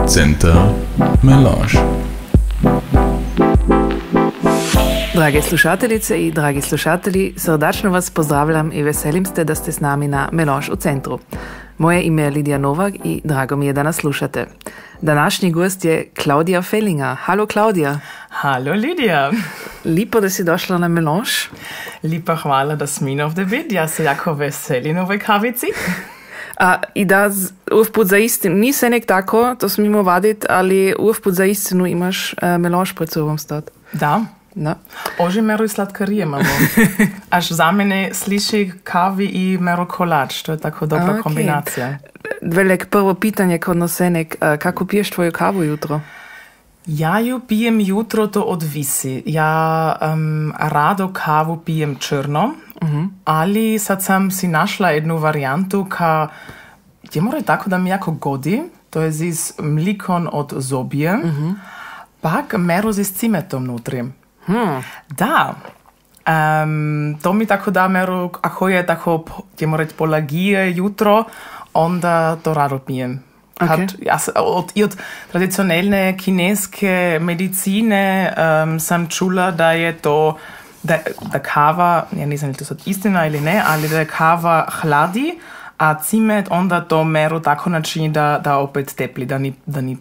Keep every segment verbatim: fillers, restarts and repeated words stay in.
Center Melange. Drage slušateljice i dragi slušatelji, srdačno vas pozdravljam i veselim se da ste s nami na Melange u centru. Moje ime je Lidija Novak i drago mi je da nas slušate. Današnji gost je Claudia Fellinger. Halo Claudia. Halo Lidija. Lipo da si došla na Melange. Lipa hvala da smi ovdje biti. Ja se jako veselim ovoj kavici. A, I da uvput za istinu, ni se nek tako, to smimo vaditi, ali uvput za istinu imaš uh, Melange pred sobom stati. Da. Da. Ože mero i sladkarije imamo. Až za mene sliši kavi i mero kolač. To je tako dobra okay. kombinacija. Velik prvo pitanje kod nosenek, uh, kako piješ tvoju kavu jutro? Ja ju pijem jutro, to odvisi. Ja um, rado kavu pijem črno, uh-huh. ali sad sam si našla jednu varijantu ka je mora tako da mi jako godi, to je z mlikon od zobje, uh-huh. pak mero z cimetom nutri. Hmm. Da. Um, to mi tako da mero, ako je tako, je mora polagije jutro, onda to rado pijem. Okay. Kad, ja, od, I od tradicionalne kineske medicine um, sam čula da je to, da, da kava, ja ne znam li to sad istina ili ne, ali da je kava hladi, a cimet onda to mero tako načini da, da opet tepli, da ni, da ni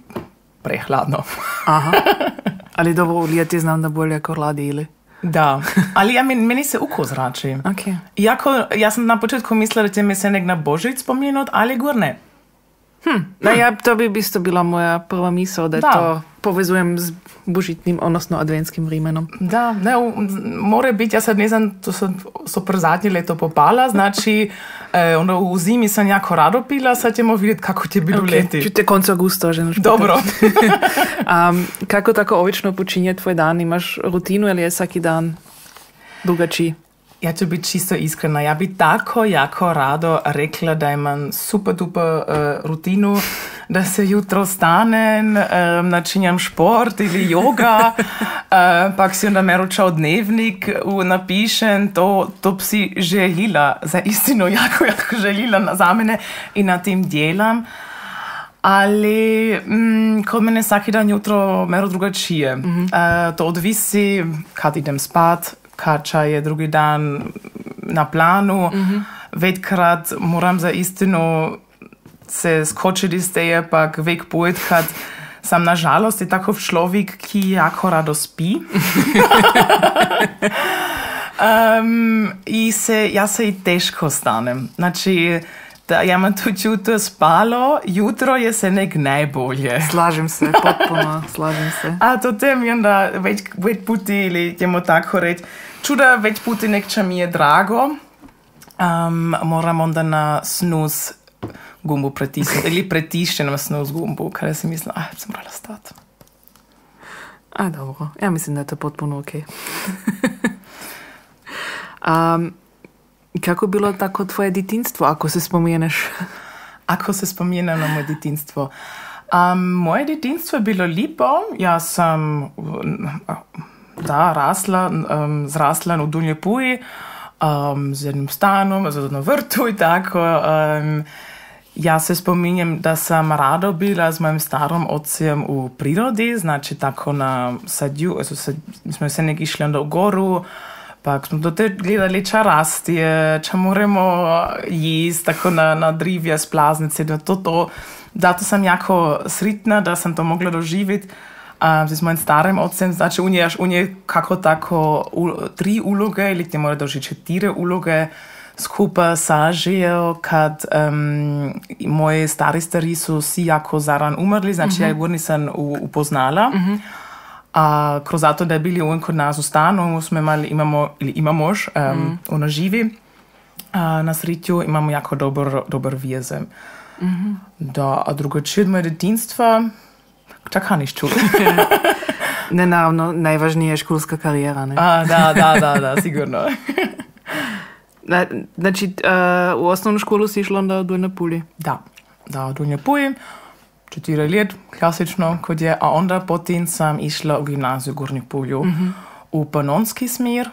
prehladno. Aha. Ali dobro, lijeti znam da bolje ako hladi ili? Da, ali ja, meni, meni se uko zrači. Okay. Iako, ja sam na početku mislila da će mi se nek na Božić spomenut, ali gor ne. Hm. Da, ja, to bi isto bila moja prva misao, da, da. to povezujem s božitnim, odnosno adventskim vremenom. Da, ne, more biti, ja sad ne znam, to sam super zadnje leto popala, znači eh, ono, u zimi sam jako rado pila, sad ćemo vidjeti kako će biti okay. u leti. Čute koncu augusta, že noš Dobro. um, kako tako obično počinje tvoj dan? Imaš rutinu ili je svaki dan drugačiji? Ja ću biti čisto iskrena. Ja bi tako jako rado rekla da imam super duper uh, rutinu, da se jutro stanem, um, načinjam šport ili yoga, uh, pak si onda meručao dnevnik uh, napišem, to, to bi si željela, za istinu jako, jako željela za mene i na tim djelam. Ali mm, kod mene svaki dan jutro mero drugačije. Mm-hmm. Uh, to odvisi kad idem spat, kača je drugi dan na planu. Mm-hmm. Vetkrat moram za istinu se skočiti iz teje, pak vek pojet, kad sam nažalost je takov človek, ki jako rado spi. um, I se, ja se i teško stanem. Znači, da ja imam tu jutro spalo, jutro je se nek najbolje. Slažem se, potpuno, slažem se. A to tem je onda već, već puti, ili ćemo tako reći, čuda već puti nekča mi je drago, um, moram onda na snus gumbu pretisnuti, ili pretišćenom snus gumbu, kada si mislila, ah, sam morala stati. A, dobro, ja mislim da je to potpuno okej. Okay. um, Kako bilo tako tvoje djetinjstvo, ako se spomeneš? Ako se spomenem na moje djetinjstvo. Um, moje djetinjstvo je bilo lipo. Ja sam da, rasla, um, zrasla u Dunjoj Puji um, z jednim stanom, z jednom vrtu i tako. Um, ja se spominjem da sam rado bila s mojim starom ocem u prirodi, znači tako na sadju, sad, smo se nek išli onda u goru, pak smo do te gledali ča rastje, ča moramo jist, tako na, na drivje, splaznice, da to to. Zato sam jako sritna da sam to mogla doživjeti uh, s mojim starim ocem. Znači, on je, on je kako tako u, tri uloge, ili ti mora doživjeti četiri uloge skupa sažijel, kad um, moji stari stari su si jako zaran umrli, znači mm-hmm. ja ih nisam upoznala. Mm-hmm. A kroz zato da je bili on kod nas u stanu, smo imali, imamo, ili imamo još, um, mm. ono živi a, na sritju, imamo jako dobar, dobar veze. Mm-hmm. Da, a drugačije od moje djetinjstva, čak niš čuli. Ne, naravno, najvažnija je školska karijera, ne? A, da, da, da, da, sigurno. Znači, uh, u osnovnu školu si išla onda u Donjoj Puli? Da, da, u Donjoj Puli. Četiri let, klasično, kod je, a onda potem sam išla u gimnaziju u Gornji Pulju, mm-hmm. u panonski smer.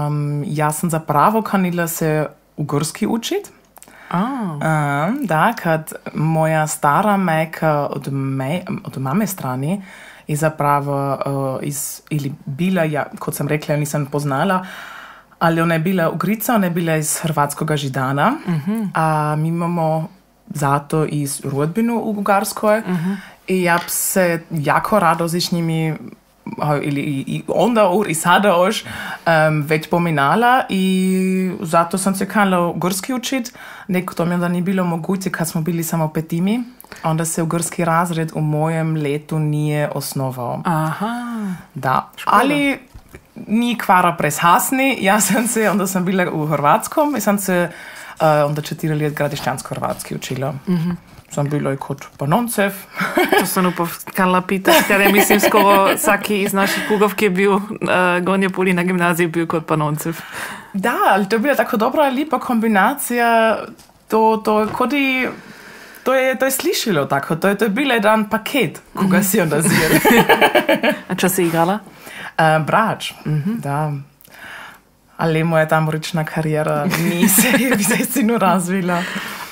Um, ja sam zapravo kanila se ugorski učit, Oh. Um, da, kad moja stara majka od, me, od mame strani je zapravo uh, iz, ili bila, ja, kot sam rekla, nisam poznala, ali ona je bila Ugrica, ona je bila iz hrvatskoga Židana, uh-huh. a mi imamo zato iz rodbinu u Ugarskoj uh-huh. i ja bi se jako rado z njimi ili i onda ur i sada još um, već pominala i zato sam se kanala ugrski učit. Neko to mi onda nije bilo moguće kad smo bili samo petimi. Onda se ugrski razred u mojem letu nije osnovao. Aha. Da, ali nije kvara preshasni. Ja sam se, onda sam bila u Hrvatskom i sam se uh, onda četiri let gradišćansko-hrvatski učila. Mhm. Sam bila i kod Panoncev. To sam upov kanala pitati, jer mislim skoro svaki iz naših kugovki je bil uh, Gornje Puli na gimnaziji bil kod Panoncev. Da, ali to je bila tako dobra, lipa kombinacija. To, to, kodi, to, je, to je slišilo tako. To je, to je bil jedan paket, koga mm-hmm. si onda zjeli. A čo si igrala? Uh, brač, mm-hmm. da. Ali moja tamorična karijera ni se, bi se istinu razvila.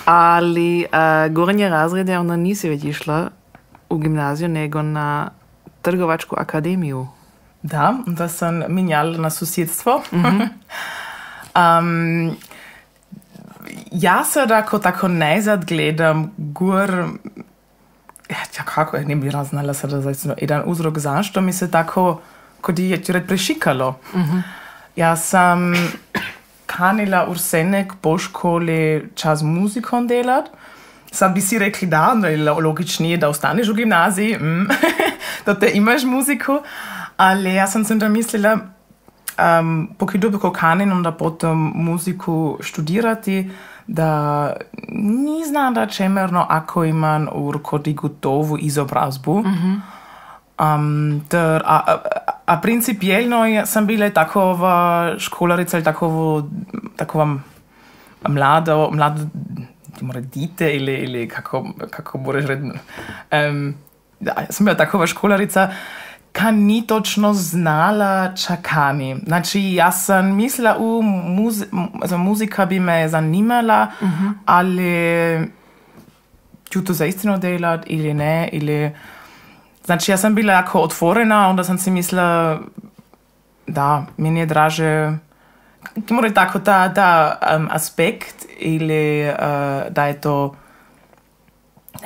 Ali uh, gornje razrede onda nisi već išla u gimnaziju, nego na Trgovačku akademiju. Da, da sam minjala na susjedstvo. Mm-hmm. um, ja sad ako tako najzad gledam gor, ja kako, ne bi raznala sada zaista jedan uzrok zašto mi se tako, kod je red prešikalo. Mm-hmm. Ja sam kanila ursenek po školi čas muzikom delat. Sad bi si rekli da, logičnije da ostaneš u gimnaziji, mm, da te imaš muziku, ali ja sam se onda mislila, um, pokud duboko kanin onda potom muziku študirati, da ni znam da čemerno ako imam urkodi gotovu izobrazbu. Mm-hmm. Um, ter, a, a, a principijelno sam bila takova školarica ili takovo, takova mlado, mlado mora dite ili, ili kako, kako moraš reći. Um, ja, ja sam bila takova školarica ka ni točno znala čakani. Znači, ja sam mislila, u muzi, muzika bi me zanimala, mm-hmm. ali ću to zaistino delat ili ne, ili... Znači, ja sam bila jako otvorena, onda sam si mislila, da, meni je draže, mora tako ta, ta um, aspekt ili uh, da je to,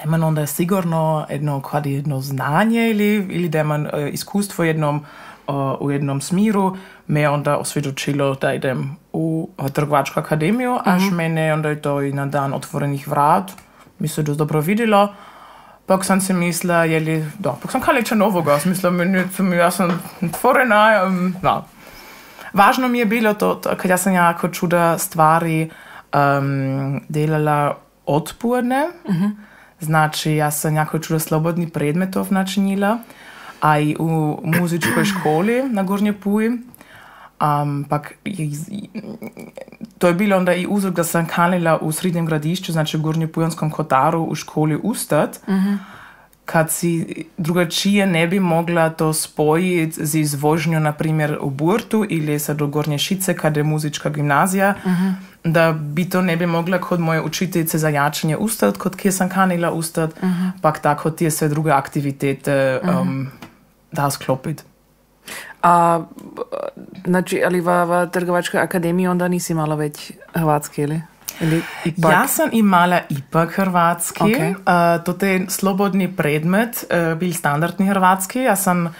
da onda sigurno jedno, kad je jedno znanje ili, ili da imam uh, iskustvo jednom, uh, u jednom smiru, me onda osvjedočilo da idem u uh, Trgovačku akademiju, mm-hmm. až mene onda je to i na dan otvorenih vrat, mi se dost dobro vidjelo. Pak sam si mislila, jeli, da, pak sam kaliča novoga, smisla, ja sam otvorena, um, da. Važno mi je bilo to, to kad ja sam jako čuda stvari um, delala otporne, mm-hmm. znači ja sam jako čuda slobodni predmetov načinila, a i u muzičkoj školi na Gornje Puji. Um, pak je, to je bilo onda i uzrok da sam kanila u srednjem gradišću, znači u Gornje-Pujanskom Kotaru u školi ustat, mm-hmm. kad si drugačije ne bi mogla to spojiti z izvožnjo, na primjer u Burtu ili sad do Gornje Šice, kad je muzička gimnazija, mm-hmm. da bi to ne bi mogla kod moje učiteljice za jačanje ustat, kod kje sam kanila ustat, mm-hmm. pak tako tije sve druge aktivitete um, mm-hmm. da sklopiti. A, znači, ali v, v Trgovačkoj akademiji onda nisi imala već hrvatski, ili? ili ipak? Ja sam imala ipak hrvatski. Okay. Uh, to je slobodni predmet, uh, bil standardni hrvatski. Ja sam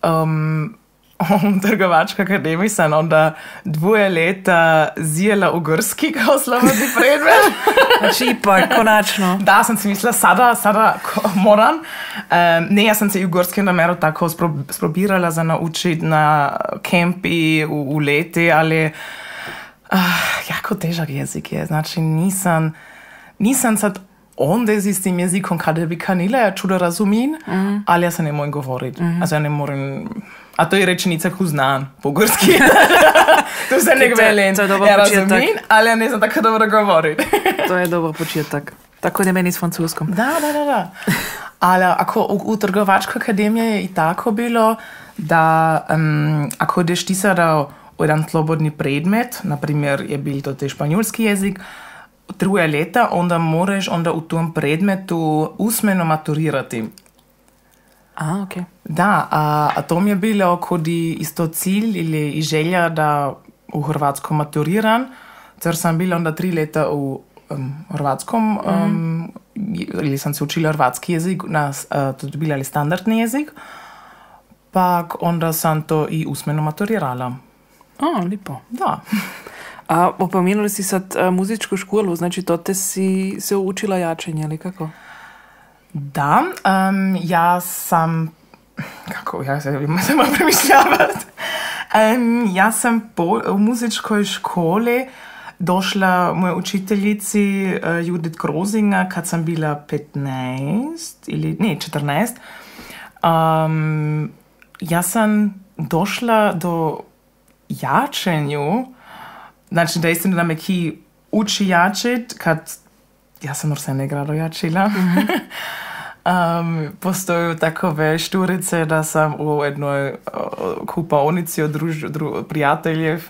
um, u Trgovačkoj akademiji sam onda dvoje leta zijela ugrski kao slobodni predmet. Znači ipak, konačno. Da, sam si mislila, sada, sada moram. Um, ne, ja sam se i ugorski nameru tako spro, sprobirala za naučiti na kempi u, u leti, ali uh, jako težak jezik je. Znači nisam, nisam sad onda s tim jezikom kada bi kanila, ja čudo razumim, mm. ali ja se ne moram govoriti. Mm. Also ja ne moram... A to je rečenica, ko znam po gorski. To se ne gvelim. Ja razumim, ali ja ne znam tako dobro govoriti. To je dobro početak. Tako ne meni s francuskom. Da, da, da, da. Ali ako u, u Trgovačkoj akademiji je i tako bilo, da um, ako ideš ti sada u jedan slobodni predmet, na primjer je bil to te španjolski jezik, truje leta, onda moraš onda u tom predmetu usmeno maturirati. A, ok. Da, a, a to mi je bilo kodi isto cilj ili i želja da u Hrvatskom maturiram, jer sam bila onda tri leta u um, Hrvatskom, um, ili sam se učila hrvatski jezik, na, uh, to je bila ali standardni jezik, pak onda sam to i usmeno maturirala. A, lipo. Da. A opomenuli si sad uh, muzičku školu, znači to te si se učila jačanje, ali kako? Da, um, ja sam, kako, ja se moramo premišljavati, um, ja sam po, u muzičkoj školi došla moje učiteljici uh, Judith Grozinga kad sam bila petnaest ili ne, četrnaest. Um, ja sam došla do jačenju, znači da istina da me ki uči jačit, kad ja sam još se ne grado jačila. Mm-hmm. um, postoju takove šturice da sam u jednoj uh, kupaonici od druž, dru, prijateljev,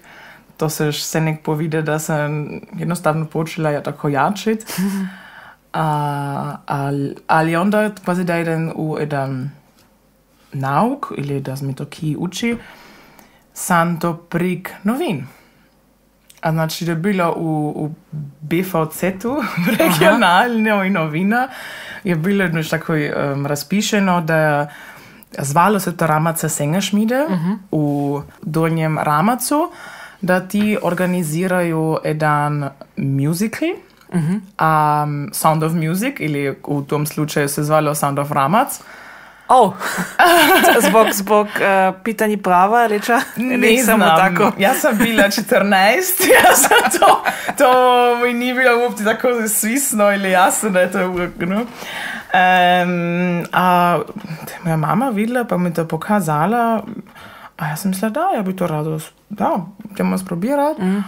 to se se nek povide da sam jednostavno počela ja tako jačit. Mm-hmm. Uh, ali, ali onda kvazi da idem u jedan nauk ili da mi to ki uči, sam to prik novin. A znači, da je bilo u, u B V Z-u, regionalnoj novina, je bilo jedno tako um, razpišeno, da zvalo se to Ramaca Sengerschmiede uh-huh. u Donjem Ramacu, da ti organiziraju jedan musical, uh-huh. um, Sound of Music, ili u tom slučaju se zvalo Sound of Ramac. Oh, zbog, zbog uh, pitanja prava, reča? Ne samo tako. Ja sam bila četrnaest, ja sam to, to mi ni bilo uopće tako svisno ili jasno da je to no? um, a moja mama videla pa mi to pokazala, a ja sam mislila da, ja bi to rado, da, idemo sprobirati. Mm.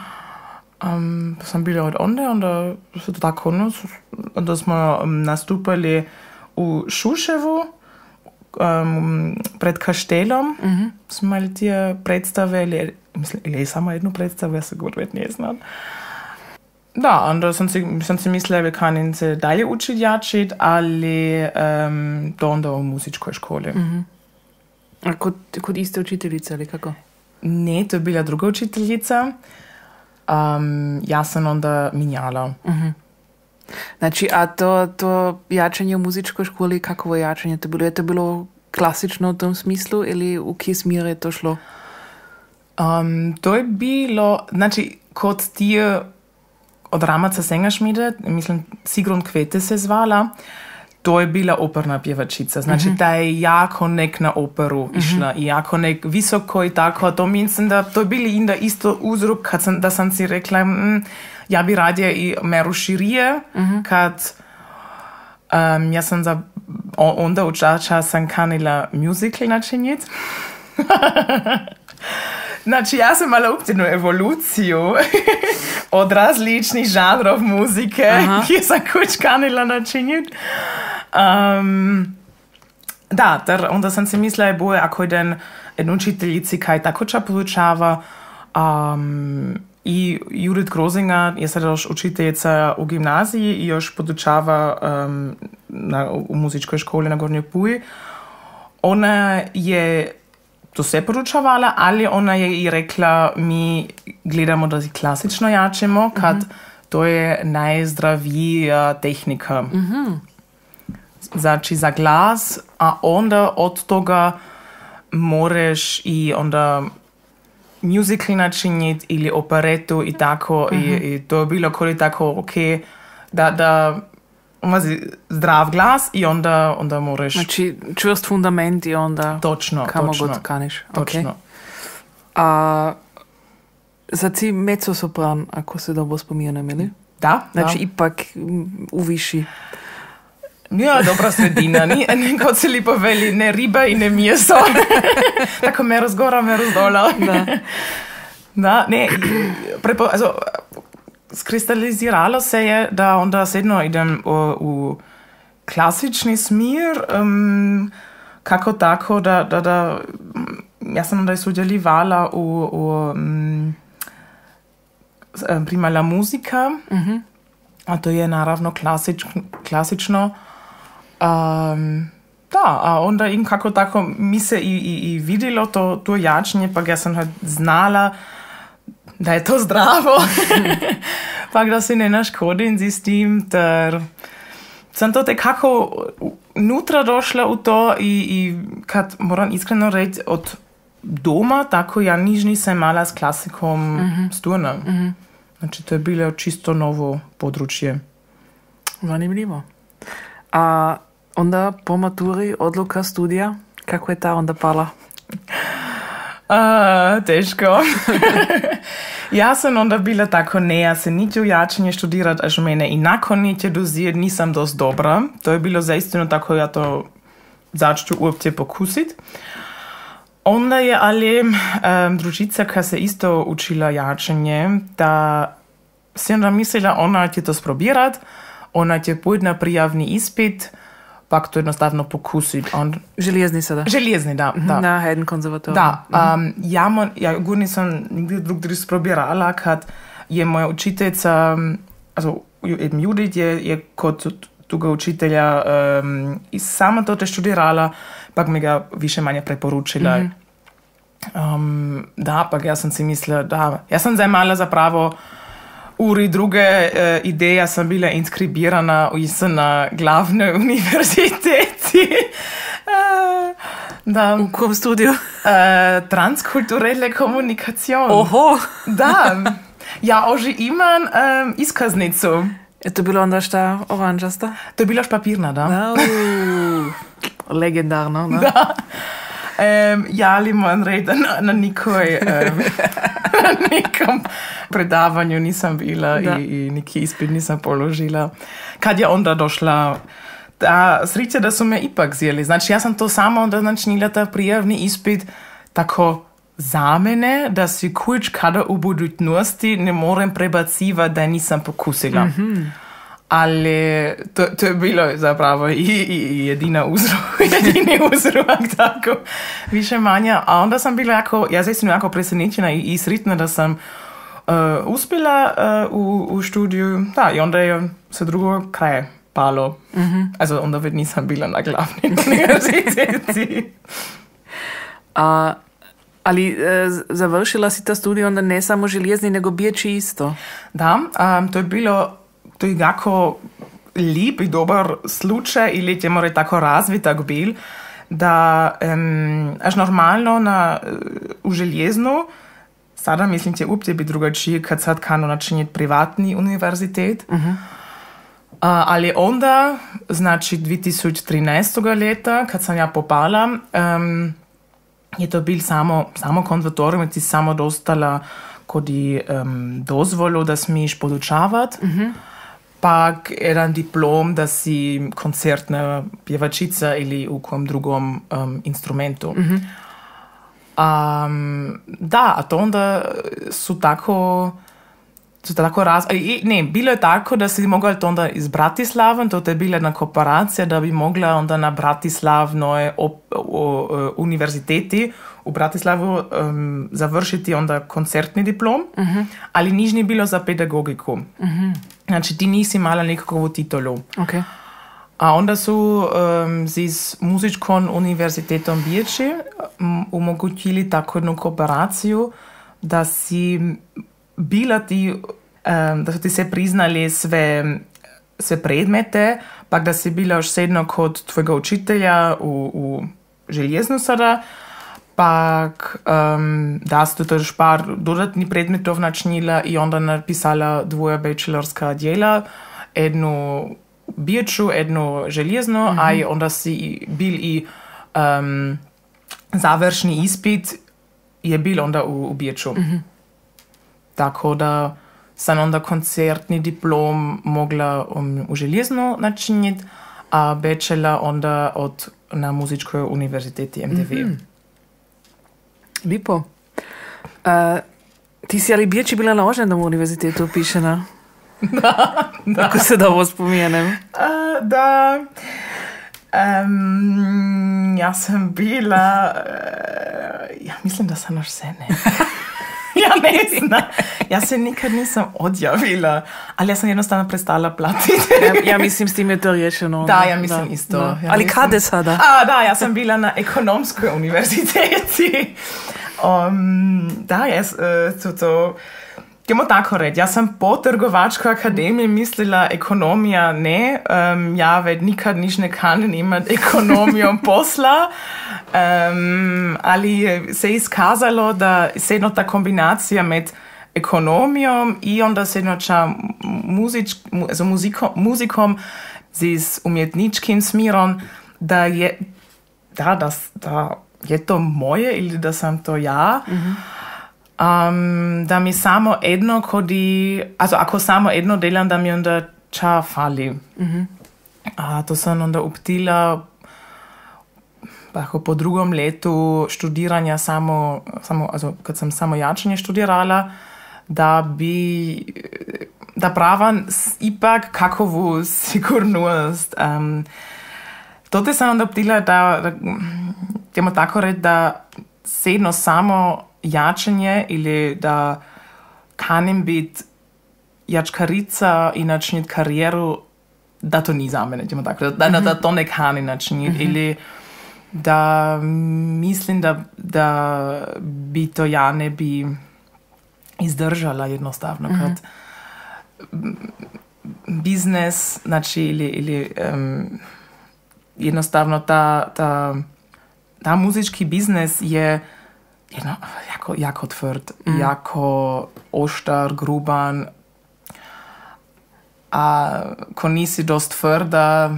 Um, pa sam bila od onda, onda se to tako, no, onda smo nastupali u Šuševu, Um, pred kaštelom uh-huh. smo imeli te predstave, ili, mislim, ili samo jednu predstavu, ja se govorim, ne znam. Da, onda sam si, sam si mislila, da kanim se dalje učiti jačit, ali um, to onda u muzičkoj školi. Uh-huh. A kod, kod iste učiteljice, ali kako? Ne, to je bila druga učiteljica. Um, ja sam onda minjala. Uh-huh. Znači, a to, to jačanje u muzičkoj školi, kakvo jačanje to bilo? Je to bilo klasično u tom smislu ili u kje smjer je to šlo? Um, to je bilo, znači, kod ti od Ramaca Sengerschmiede, mislim, Sigrun Kvete se zvala, to je bila operna pjevačica. Znači, mm-hmm. ta je jako nek na operu mm-hmm. išla i jako nek visoko i tako. To mislim da to je bili inda isto uzrok, kad sam, da sam si rekla, mm, ja bi radije i meru širije, mm-hmm. kad um, ja sam za, onda u čača sam kanila musical načiniti. Znači, ja sam imala uptinu evoluciju od različnih žanrov muzike, ki sam kuć kanila načiniti. Um, da, ter onda sam si mislila, je boje, ako jeden jednu učiteljici kaj takoča podučava, um, i Judith Grozinga je sada još učiteljica u gimnaziji i još podučava um, na, u muzičkoj školi na Gornjoj Puji. Ona je to sve podučavala, ali ona je i rekla, mi gledamo da si klasično jačemo, kad mm-hmm. to je najzdravija tehnika. Mm-hmm. Znači za glas, a onda od toga moraš i onda musical načiniti ili operetu i tako. Mm-hmm. I, i to je bilo koli tako, ok, da, da imaš zdrav glas i onda, onda moraš... Znači čvrst fundament i onda... Točno, kamo točno. god kaniš. Točno. Okay. A sad si mezzosopran, ako se dobro spominjem, ili? Da, znači da. ipak u viši. Ja, dobra sredina, ni, kot se lepo veli, ne riba in ne meso. Tako mero zgora, mero zdola. Da. Da, ne, prepo, also, skristaliziralo se je, da onda sedno idem v, v klasični smer, um, kako tako, da, da, da ja sam onda sudjelovala u, u um, prima la muzika, mm-hmm. A to je naravno klasič, klasično. Um, da, a onda in kako tako mi se i, i, i videlo to, to jačanje, pa ja sam znala da je to zdravo. Pa da se ne naškodim s tim, ter sam to tekako nutra došla u to i, i kad moram iskreno reći od doma, tako ja niž nisam mala s klasikom mm-hmm. sturna. Mm-hmm. Znači to je bilo čisto novo područje. Zanimljivo. A onda po maturi odluka studija, kako je ta onda pala? A, teško. Ja sam onda bila tako, ne, ja se niti u jačanje študirat, až mene i nakon niti dozir nisam dost dobra. To je bilo zaistino tako, ja to začću uopće pokusit. Onda je ali um, družica, koja se isto učila jačanje, da si onda mislila, ona će to sprobirat, ona će pojít na prijavni ispit, pak to jednostavno pokusit. On... Željezni sada? Željezni, da. da. Na Haydn konzervatoriju. Da. Um, ja, mo, ja gud nisam nigdje drugdje sprobirala, kad je moja učiteljica, also eben Judith, je, je kod toga učitelja um, i sama to te študirala, pak mi ga više manje preporučila. Mm-hmm. Um, da, pak ja sam si mislila, da, ja sam zajmala zapravo uri druge e, ideje, ja sam bila inskribirana na glavnoj univerziteti. e, da. U kom studiju? E, transkulturelle komunikacion. Oho! Da, ja oži imam um, iskaznicu. Je to bilo onda šta oranžasta? To je bila špapirna, da. da legendarno, da. Da. Um, ja, ali moram reći da na, na, nikoj, um, na nikom predavanju nisam bila i, i neki ispit nisam položila. Kad je onda došla, da, sreća da su me ipak zjeli. Znači, ja sam to samo onda načinila ta prijavni ispit tako za mene, da si kuć kada u budućnosti ne moram prebaciva da nisam pokusila. Mm-hmm. Ali to, to je bilo zapravo i, i, i jedina uzrok, jedini uzrok, tako, više manje. A onda sam bila jako, ja sam jako presenečena i, i sretna da sam uh, uspjela uh, u, u studiju. Da, i onda je se drugo kraj palo. Mm-hmm. Also, onda već nisam bila na glavnoj univerziteti. A, ali e, završila si ta studij onda ne samo željezni, nego biječi isto. Da, um, to je bilo to je jako lijep i dobar slučaj ili ćemo reći tako razvitak bil, da um, až normalno na, u željeznu, sada mislim će uopće biti drugačije kad sad kanu načiniti privatni univerzitet, uh-huh. uh, ali onda, znači dvije tisuće trinaestog leta, kad sam ja popala, um, je to bil samo, samo konzervatorium, ti samo dostala kodi um, dozvolu, da smiješ podučavat, uh-huh. pak jedan diplom, da si koncertna pjevačica ili u kom drugom um, instrumentu. Mm-hmm. Um, da, a to onda su tako, su tako raz... I, ne, bilo je tako da si mogla to onda iz Bratislava, to je bila jedna kooperacija da bi mogla onda na Bratislavnoj op, o, o, univerziteti u Bratislavu um, završiti onda koncertni diplom, uh-huh. ali niž ni bilo za pedagogiku. Uh-huh. Znači ti nisi imala nekakvu titulu. Okay. A onda su um, z muzičkom univerzitetom Biječi um, omogućili tako jednu kooperaciju da si bila ti, um, da su ti se priznali sve, sve predmete, pa da si bila još sedno kod tvojega učitelja u, u željeznu sada, pak um, da su to još par dodatnih predmetov načinila i onda napisala dvoje bachelorska djela, jednu Bieču, jednu željeznu, mm-hmm. a i onda si bil i um, završni ispit je bil onda u, u Bieču. Mm-hmm. Tako da sam onda koncertni diplom mogla um, u željeznu načiniti, a bachelor onda od, na muzičkoj univerziteti M D V. Mm-hmm. Lipo. Uh, ti si ali Biječi bila na Oženom univerzitetu upišena? Da, da. Ako se dobro spomijenem. Uh, da. Um, ja sam bila... Uh, ja mislim da sam još se ne. Ja ne znam. Ja se nikad nisam odjavila, ali ja sam jednostavno prestala platiti. Ja, ja mislim s tim je to riješeno. Da, ja mislim da, isto. Da. Ja ali mislim... kada sada? A, da, ja sam bila na ekonomskoj univerziteti. Um, da, jaz, uh, to, to... Idemo tako reći, ja sam po trgovačkoj akademiji mislila ekonomija ne, um, ja već nikad niš ne kanem imati ekonomijom posla, um, ali se je iskazalo da se jedna ta kombinacija med ekonomijom i onda se jednoča muzič, also muzikom, muzikom z umjetničkim smirom, da je, da, da, da je to moje ili da sam to ja. Mm-hmm. Um, da mi samo jedno kodi, also ako samo jedno delam, da mi onda ča fali. Mm-hmm. A to sam onda uptila ako po drugom letu študiranja samo, samo also kad sam samo jačanje študirala, da bi da pravam ipak kakovu sigurnost. Um, to sam onda uptila da, da idemo tako reći, da se jedno samo jačanje ili da kanem biti jačkarica i načiniti karijeru, da to ni za mene, tako, da, mm-hmm. da to ne kanem načiniti. Mm-hmm. Ili da mislim, da, da bi to ja ne bi izdržala jednostavno. Mm-hmm. Kad biznes, znači, ili, ili um, jednostavno ta, ta, ta muzički biznes je jedno, jako, jako tvrd, mm. jako oštar, gruban. A ko nisi dost tvrda,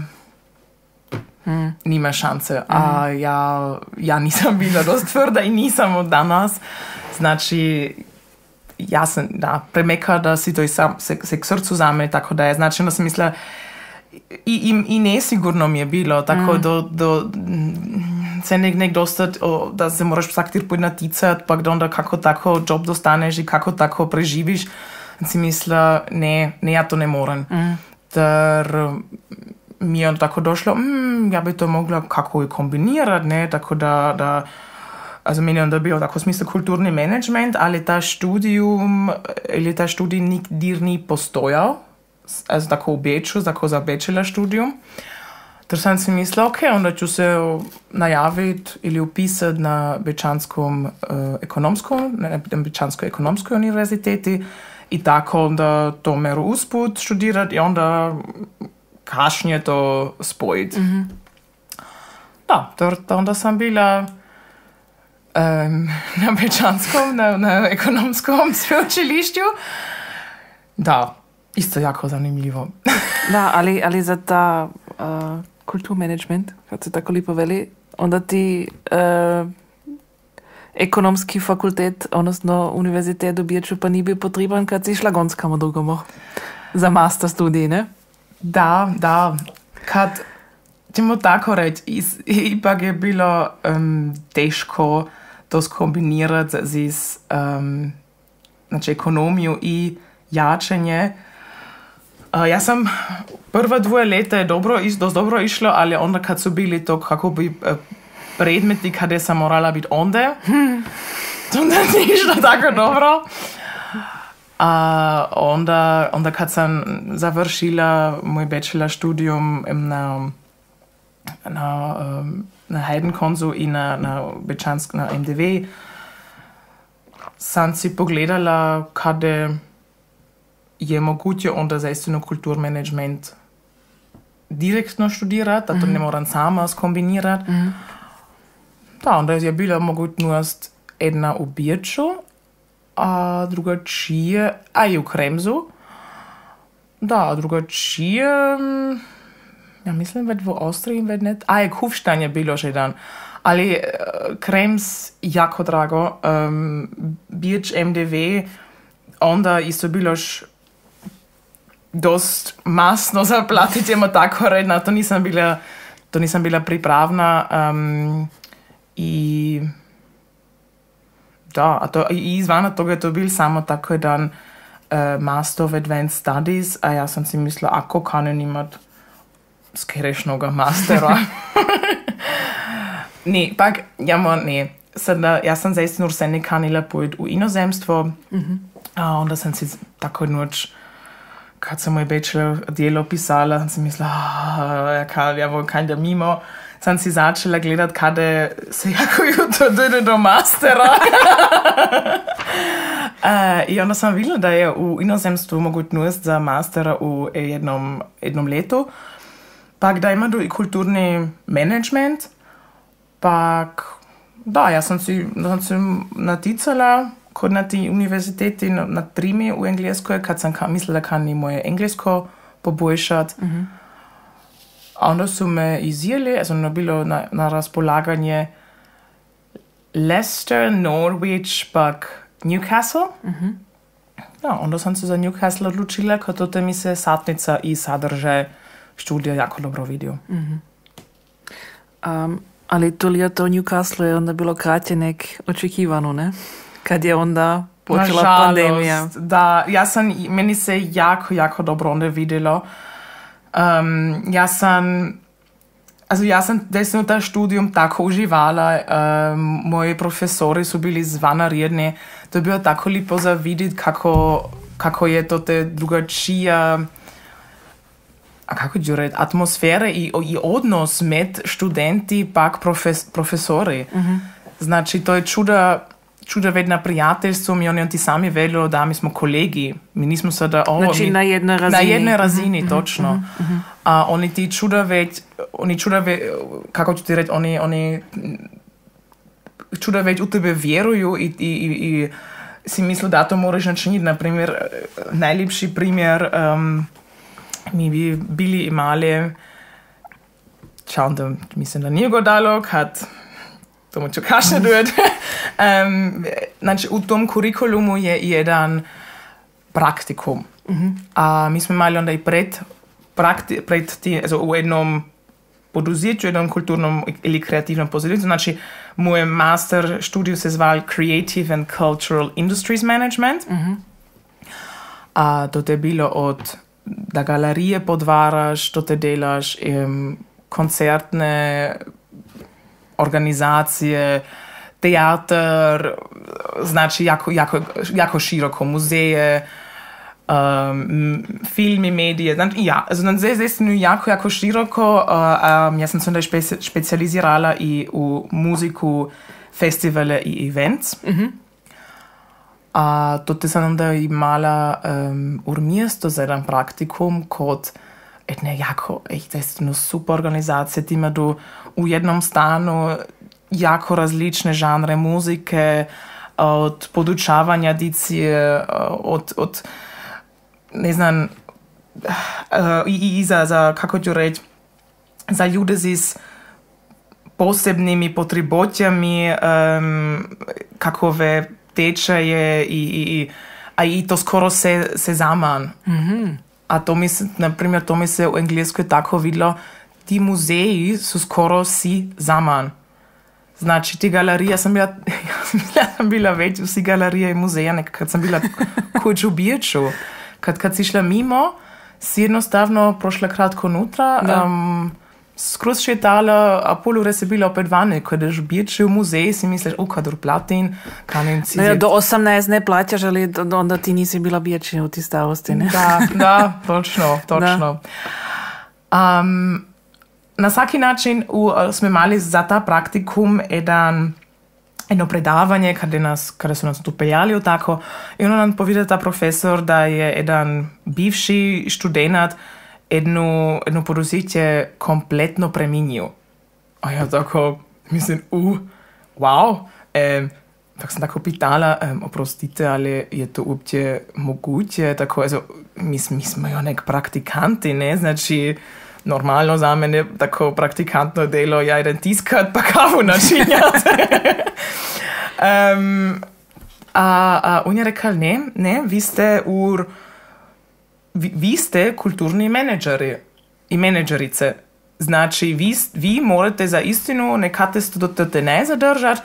mm. nima šanse. Mm. A ja, ja nisam bila dost tvrda i nisam od danas. Znači, ja sam da, premeka da si to i sam, se, se k srcu zame, tako da je. Znači, onda sam mislila, i, i, i nesigurno mi je bilo, tako mm. do... do se nek, nek dostat, o, da se moraš vsak tir pojď naticati, pa onda kako tako job dostaneš i kako tako preživiš. In si mislila, ne, ne, ja to ne morem. Mm. Ter mi je tako došlo, mm, ja bi to mogla kako i kombinirati, ne, tako da, da also meni je onda bio tako smisel kulturni management, ali ta študijum, ili ta študij nikdir ni postojal, also tako v Beču, tako za bachelor študijum. Ter sam si mislila, ok, onda ću se najaviti ili upisati na Bečanskom uh, ekonomskom, na Bečanskoj ekonomskoj univerziteti i tako onda to meru usput študirati i onda kašnje to spojiti. Mm-hmm. Da, ter onda sam bila um, na Bečanskom, na, na ekonomskom sveučilišću. Da, isto jako zanimljivo. Da, ali, ali za ta uh, kulturmanagement, kad se tako lipo veli, onda ti uh, ekonomski fakultet, odnosno univerzitet u Beču pa ni bil potreben, kad si šla gon kamo drugomu za master studij, ne? Da, da. Kad ćemo tako reći, ipak je bilo um, teško to skombinirati z um, znači ekonomiju i jačanje. Uh, ja sam prva dvoje leta je dobro, dost dobro išlo, ali onda kad su bili to kako bi uh, predmeti kada sam morala biti onda, hmm. onda nije išlo tako dobro. A onda, onda kad sam završila moj bachelor studijum na, na, na Heidenkonzu i na, na Bečansk, na M D V, sam si pogledala kada je moguće onda zaistinu kulturmanagement direktno študirati, da to mm-hmm. ne moram sama skombinirati. Mm-hmm. Da, onda je bila mogućnost jedna u Beču, a drugačije, a i u Kremsu. Da, drugačije, ja mislim već u Austriji, već ne, a je Kufstein je bilo še dan. Ali uh, Krems jako drago, um, Beč M D V, onda isto bilo š dost masno zaplatiti, jemo tako reći, na to nisam bila, to nisam bila pripravna. Um, I da, a to, i izvana toga je to bil samo tako jedan uh, Master of Advanced Studies, a ja sam si mislila, ako kanem imat skerešnoga mastera. Ne, pak, ja mo, ne. sada, ja sam zaistinu se ne kanila pojeti u inozemstvo. Mm-hmm. A onda sam si tako noć, kad sam moj bachelor djelo pisala, sam si mislila, ja, ja bom kajda mimo. Sam si začela gledat, kada se jako jutro dojde do mastera. uh, I onda sam videla, da je u inozemstvu mogućnost za mastera u jednom, jednom letu. Pak da ima i kulturni management. Pak, da, ja sam si, sam si naticala kod na ti univerziteti na, na trimi u Engleskoj, kad sam ka, mislila, da kan i moje englesko poboljšati. Mm-hmm. A onda su me izjeli, also ono bilo na, na raspolaganje Leicester, Norwich, pak Newcastle. Mm-hmm. Ja, onda sam se za Newcastle odlučila, kad to mi se satnica i sadržaj študija jako dobro vidio. Mm-hmm. Um, ali to ljeto u Newcastle je onda bilo kraće nek očekivano, ne? Kad je onda počela Nažalost, pandemija. Da, ja sam, meni se jako, jako dobro onda vidjelo. Um, ja sam, also ja sam desno ta študijum tako uživala, um, moji profesori su bili zvanarjedni, to je bilo tako lipo za vidjeti kako, kako je to te drugačija, a kako ću reći, atmosfere i, i odnos med študenti pak profes, profesori. Mm-hmm. Znači, to je čuda, čuda vedna prijateljstvo, mi oni ti sami vedlo, da mi smo kolegi, mi nismo sada ovo... Znači, mi, na jednoj razini. Na jednoj razini, mm-hmm, točno. Mm-hmm. A oni ti čuda već, oni čuda već, kako ću ti reći, oni, oni čuda već u tebe vjeruju i, i, i, i si misle, da to moraš načiniti. Naprimjer, najljepši primjer, um, mi bi bili imali, čau, da mislim, da nije godalo, kad tomu ću kašne dojeti. um, znači, u tom kurikulumu je jedan praktikum. Mm-hmm. A mi smo imali onda i pred, prakti, pred ti, also u jednom poduzetju, jednom kulturnom ili kreativnom poduzetju. Znači, moj master studiju se zval Creative and Cultural Industries Management. Mm-hmm. A to je bilo od da galerije podvaraš, to te delaš, um, koncertne organizacije, teatar, znači jako, jako, jako široko, muzeje, um, filmi, medije, znači ja, znači zaistinu jako, jako široko. Uh, um, ja sam se onda špe- specijalizirala i u muziku, festivale i events. Mm-hmm. A to te sam onda imala um, u mjesto za jedan praktikum kod jedne jako, zaistinu super organizacije, tima du u jednom stanu jako različne žanre muzike, od podučavanja dicije, od, od ne znam, uh, i, i za, za, kako ću reći, za ljude s posebnimi potrebotjami, um, kakove tečaje i, i, a i to skoro se, se zaman. Mm-hmm. A to mi se, na primjer, to mi se u Engleskoj tako vidlo, ti muzeji su skoro si zaman. Znači, ti galerije, ja sam bila, ja sam bila već u si galerije i muzeja, nekaj, kad sam bila kuć u Birču. Kad, kad si šla mimo, si jednostavno prošla kratko nutra, um, skroz šetala, a pol ure si bila opet vane. Kad ješ u Birču u muzej, si misliš, u kadur platin, kanim si... No ja, do osemnaest ne plaćaš, ali onda ti nisi bila Birču u ti stavosti, ne? Da, da, točno, točno. Da. Um, Na svaki način u, smo imali za ta praktikum jedan, jedno predavanje kada, nas, kada su nas tu peljali tako i ono nam povida ta profesor da je jedan bivši študent jedno, jedno poduzetje kompletno preminio. A ja tako mislim, uh, wow. Um, tak sam tako pitala, um, oprostite, ali je to uopće moguće? Tako, also, mi, mi smo jo nek praktikanti, ne? Znači, normalno za mene tako praktikantno delo ja jedan tiskat pa kavu načinjati. um, a, a on je rekao, ne, ne, vi ste, ur, vi, vi ste kulturni menedžeri i menedžerice. Znači, vi, vi morate za istinu nekate studente ne zadržati,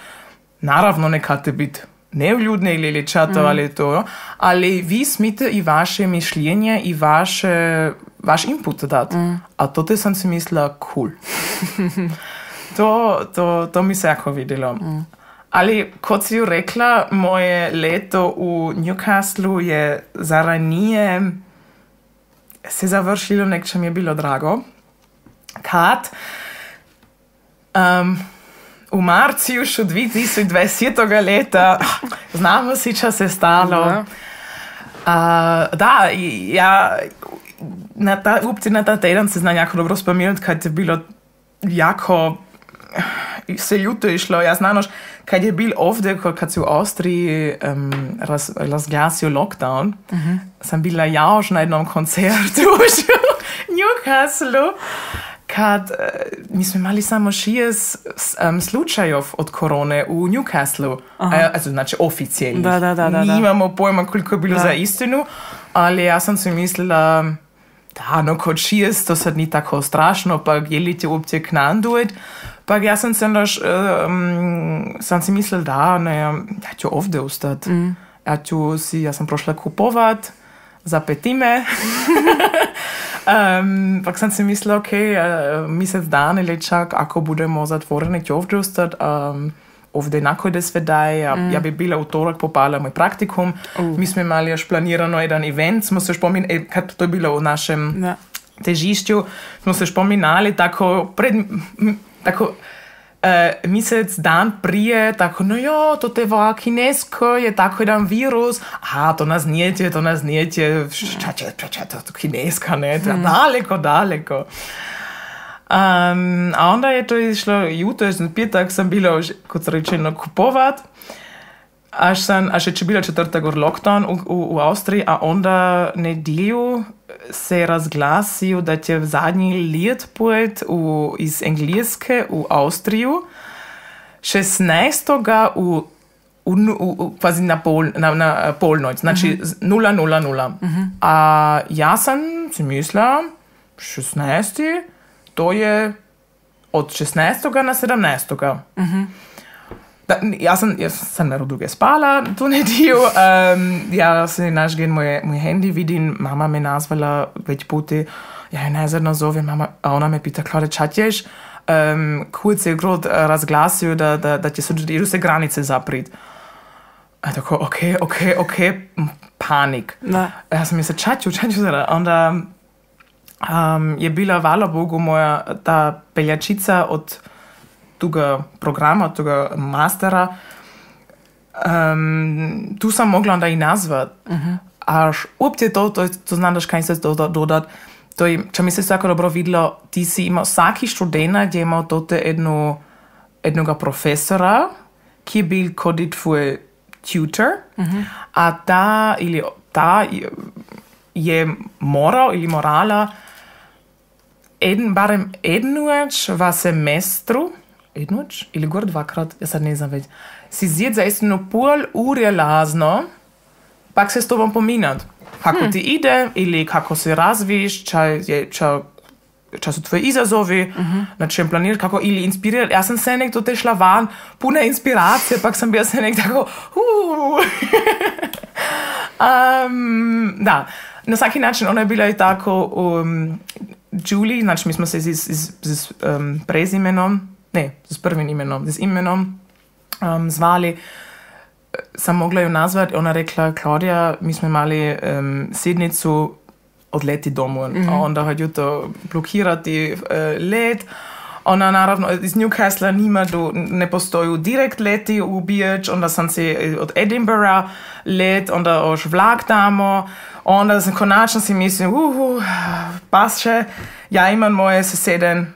naravno nekate biti nevljudne ili ličato, mm. ali to, ali vi smite i vaše mišljenje i vaše, vaš input dati. Mm. A to te sam si mislila, cool. to, to, to mi se jako vidjelo. Mm. Ali, kot si ju rekla, moje leto v Newcastlu je zaranije se završilo, nekče mi je bilo drago. Kad um, v marcu još od dve tisoč dvajsetega leta, znamo si, čo se stalo. Uh, da, ja, na ta, upci na ta teden se znam jako dobro spominjati, kad je bilo jako se ljuto išlo. Ja znanoš, kad je bil ovdje, kad se u Austriji um, raz, razglasio lockdown, uh-huh. sam bila jaož na jednom koncertu u Newcastlu, kad uh, mi smo imali samo šest um, slučajov od korone u Newcastlu. Uh, also, znači oficijelnih. Da, da, da, da, da. Nimamo pojma koliko je bilo da. Za istinu, ali ja sam si mislila, da, no kod šest, to sad ni tako strašno, pa jelite uopće k nam doći. Pa ja sam se naš, um, sam si mislila, da, ne, ja ću ovdje ostati. Mm. Ja ću si, ja sam prošla kupovat za petime. um, pak sam si mislila, ok, uh, mjesec dan ili čak, ako budemo zatvoreni, ću ovdje ostati. Um, ovdje nakon sve daje. Ja, mm. ja bi bila utorak popala moj praktikum. Uh. Mi smo imali još planirano jedan event. Smo se spominali, kad to je bilo u našem ja. težišću, smo se spominali tako pred... Tako, uh, mjesec dan prije, tako, no jo, to te va kinesko, je tako jedan virus, a to nas nijete, to nas nijete, šta će, šta će, to kineska, ne, hmm. daleko, daleko. Um, a onda je to išlo, jutro, petak sam bila, kot rečeno, kupovat, až sam, až je bila četrtega lockdown u, u, u Austriji, a onda nedjelju se razglasio da će zadnji let pojet u, iz Engleske u Austriju šestnaestoga u, u, u, u kvazi na, pol, na, na polnoć, znači uh-huh. nula nula nula. Uh-huh. A ja sam si mislila, šestnaesti to je od šestnaestoga na sedamnaestoga. Uh-huh. Da, ja sam, ja sam naravno dugo spala tu nedjelju. Um, ja se naš gen moje, moje handy vidim, mama me nazvala već puti, ja je nazadno zovem, mama, a ona me pita, Klare, čat ješ? Um, kurz je grod razglasio da, da, da će se, idu se granice zaprit. A tako, ok, ok, ok, panik. Da. Ja sam mislila, čaću, čaću, onda um, je bila, hvala Bogu, moja ta peljačica od toga programa, od toga mastera, um, tu sam mogla onda i nazvat. Uh-huh. Až uopće to, to, to znam daš kaj se dodat, to je, če mi se tako dobro videlo, ti si imao, vsaki študent je imao tote jednu, jednoga profesora, ki je bil kod tvoj tutor, uh-huh. a ta, ili ta je moral ili morala eden, barem jednuč v semestru, jednuč ili gor dvakrat, ja sad ne znam već, si zjed za istinu pol ure lazno, pak se s tobom pominat. Kako hmm. ti ide ili kako se razviš, čaj, čaj, čaj su tvoje izazovi, uh-huh. na čem planiraš, kako ili inspirirati. Ja sam se nek do te šla van, puna inspiracije, pak sam bila se nek tako, uh. um, da, na svaki način ona je bila i tako um, Julie, znači mi smo se z, z, z um, prezimenom, ne, z prvim imenom, z imenom um, zvali. Sam mogla ju nazvat, ona rekla, Klaudija, mi smo imali um, sednicu odleti domov, mm-hmm. a onda hodju to blokirati uh, let. Ona naravno iz Newcastle nima do, ne postoju direkt leti u Biječ, onda sam se od Edinburgha let, onda još vlak damo, onda sam konačno si mislim, uhu, pasše, ja imam moje seseden,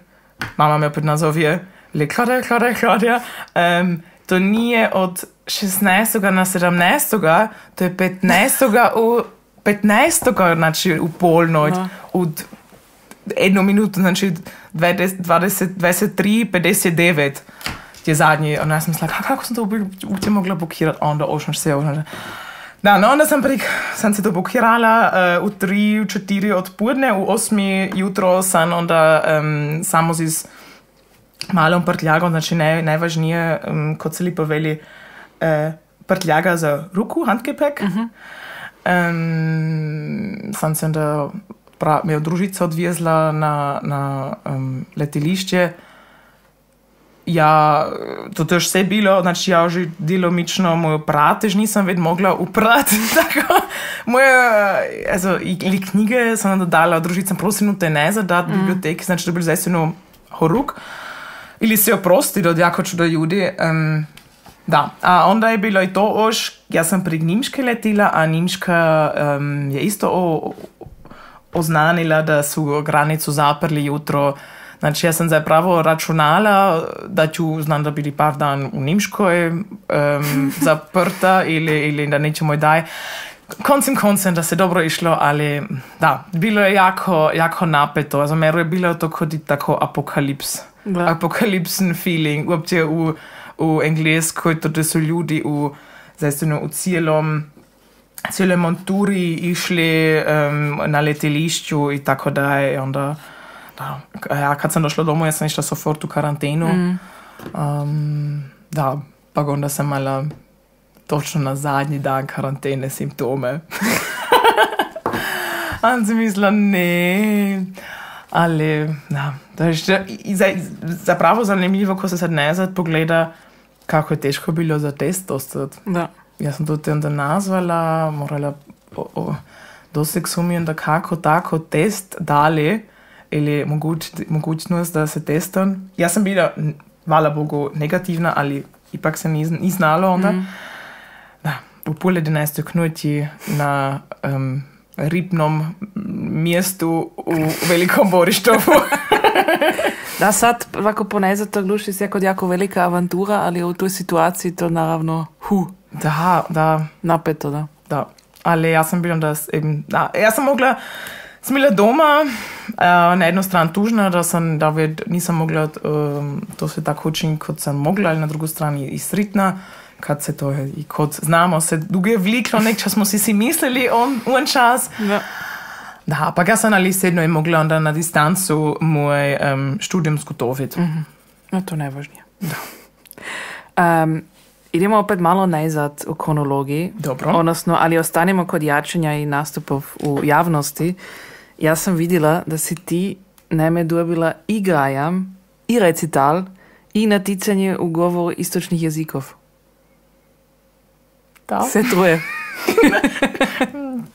mama me opet nazovje, le Klaudija, Klaudija, Klaudija, um, to nije od šestnaestoga na sedamnaestoga, to je petnaestoga u petnaestoga, znači u polnoć, no. Od jednu minutu, znači dvadeset, dvadeset tri pedeset devet je zadnji. Onda sam mislila, kako sam to uopće mogla blokirati? Onda ošno se, onda... Da, no onda sam, prik, sam se to blokirala uh, u tri, u četiri odpodne, u osmi jutro sam onda um, samo z malom prtljagom, znači naj, najvažnije, um, kot se lipo veli, uh, prtljaga za ruku, handgepäck. Uh-huh. Um, sam se onda pra, me od družica odvezla na, na um, letilišče ja, to też se bilo, znači ja že djelomično moju pratež nisam ved mogla uprati, tako, moje, also, ili knjige sam dodala, družicam prosim te ne zadat mm. biblioteki, znači dobil zaistinu horuk, ili se oprosti od jako čudo ljudi, um, da, a onda je bilo i to oš, ja sam pri Nimške letila, a Nimška um, je isto o, oznanila da su granicu zaprli jutro. Znači ja sam zapravo računala da ću, znam da bili par dan u Nimškoj um, zaprta ili, ili da nećemo i daj. Koncem koncem da se dobro išlo, ali da, bilo je jako, jako napeto. Also mero je bilo to kod i tako apokalips. Da. Apokalipsen feeling. Uopće u, u Engleskoj to da su ljudi u, zaistinu u cijelom cijele monturi išli um, na letelišću i tako da je onda da, ja kad sam došla domu ja sam išla sofort u karantenu mm. um, da, pa onda sam mala točno na zadnji dan karantene simptome a sam mislila ne ali da, da je zapravo zanimljivo ko se sad nazad pogleda kako je teško bilo za test dostati. Da. Ja sam to te onda nazvala, morala doseg sumnjam da kako tako test dali ili moguć, mogućnost da se testam. Ja sam bila, hvala Bogu, negativna, ali ipak se ni, ni znalo onda. Mm. Da, u pol jedanaestoj knuti na um, ribnom mjestu u Velikom Borištovu. Da, sad, ovako ponezat to gluši se jako, jako velika avantura, ali u toj situaciji to naravno hu. Da, da. Napeto, da. Da, ali ja sam bila da, eben, da ja sam mogla, sam bila doma, uh, na jednu stranu tužna, da sam, da ved, nisam mogla um, to se tako učiniti, kot sam mogla, ali na drugu strani i sritna, kad se to, i kot znamo, se dugo vliklo, nek čas smo si si mislili on, on čas. Da. Da, pa ja sam ali sedno je mogla onda na distancu moj um, študijum skutoviti. Mm-hmm. No, to najvažnije. Da. Um, idemo opet malo najzad u kronologiji. Dobro. Odnosno, ali ostanemo kod jačanja i nastupov u javnosti. Ja sam vidjela da si ti naime dobila i grajam, i recital, i naticanje u govoru istočnih jezikov. Da. Sve troje.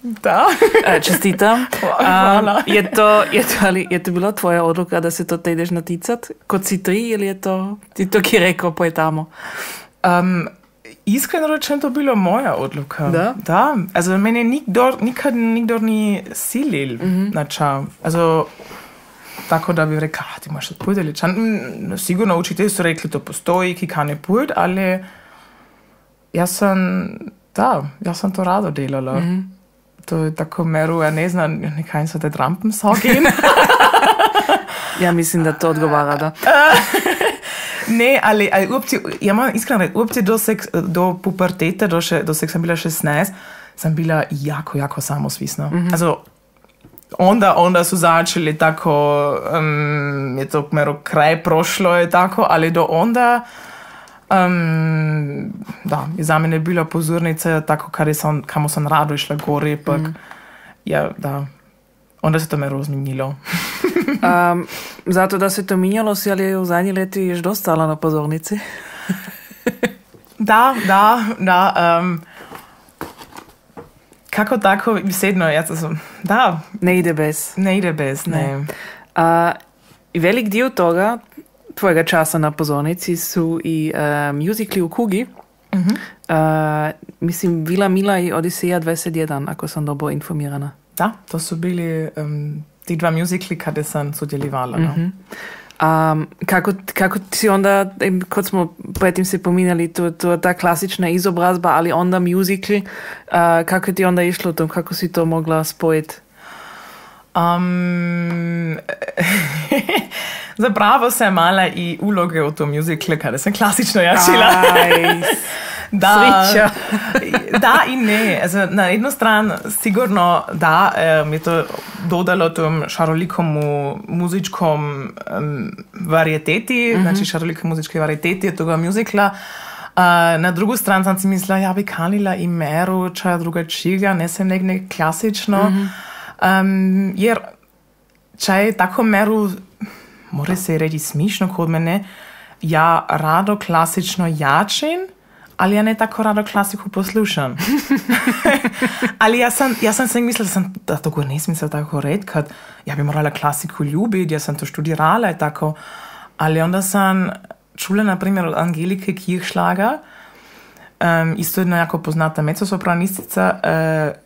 Da. Čestitam. Hvala. Um, je, to, je, to, ali, je to bila tvoja odluka da se to te ideš naticat? Kod si tri ili je to ti to ki rekao poj tamo? Um, iskreno rečeno to bilo moja odluka. Da? Da. Also mene nikdor, nikad nikdor ni silil mm-hmm. na ča. Also tako da bi rekla, ti imaš pojď ali čan. Sigurno učitelji su rekli to postoji, ki kane pojď, ali ja sam, da, ja sam to rado delala. Mm-hmm. To je tako meru, ja ne znam, nekaj so te Trampen sagen. Ja mislim da to odgovara, da. Ne, ali, ali uopće, ja moram iskreno reći, uopće do, sek, do pubertete, do, še, do sek sam bila šestnaest, sam bila jako, jako samosvisna. Mm-hmm. Also, onda, onda su začeli tako, um, je to mero kraj prošlo je tako, ali do onda, um, da, je za mene bila pozornica tako, kar sam, kamo sam rado išla gore, pak, mm. ja, da, onda se to mero zmenilo. um, zato da se to minjalo si, ali v zadnji leti ješ dostala na pozornici? Da, da, da. Um, kako tako, vsedno, ja sam, da. Ne ide bez. Ne ide bez, ne. ne. Uh, velik dio toga, tvojega časa na pozornici, su i uh, musicali u Kugi. Mm-hmm. Uh, mislim, Vila Mila i Odiseja dvadeset jedan, ako sam dobro informirana. Da, to su bili um, ti dva musicali kada sam sudjelivala. Mm-hmm. Um, kako, kako si onda, kod smo pretim se pominjali, to, to ta klasična izobrazba, ali onda musicali, uh, kako ti onda išlo tom, kako si to mogla spojiti? Um, zapravo sam mala i uloge u tom musicale kada sam klasično jačila. Da, da i ne. Also, na jednu stranu sigurno da um, je to dodalo tom šarolikomu muzičkom um, varieteti, mm-hmm. znači šarolike muzičke varieteti toga musicala. Uh, na drugu stranu sam si mislila, ja bi kanila i meru čaja drugačijega, ne sem nekaj klasično. Mm-hmm. Um, jer čaj tako meru, more se reći smišno kod mene, ja rado klasično jačim, ali ja ne tako rado klasiku poslušam. Ali ja sam, ja sam se mislila, da, sam, da to gore ne smisel tako reći, kad ja bi morala klasiku ljubiti, ja sam to študirala i tako. Ali onda sam čula, na primjer, od Angelike Kirchschlager, um, isto jedna jako poznata mezzosopranistica, uh,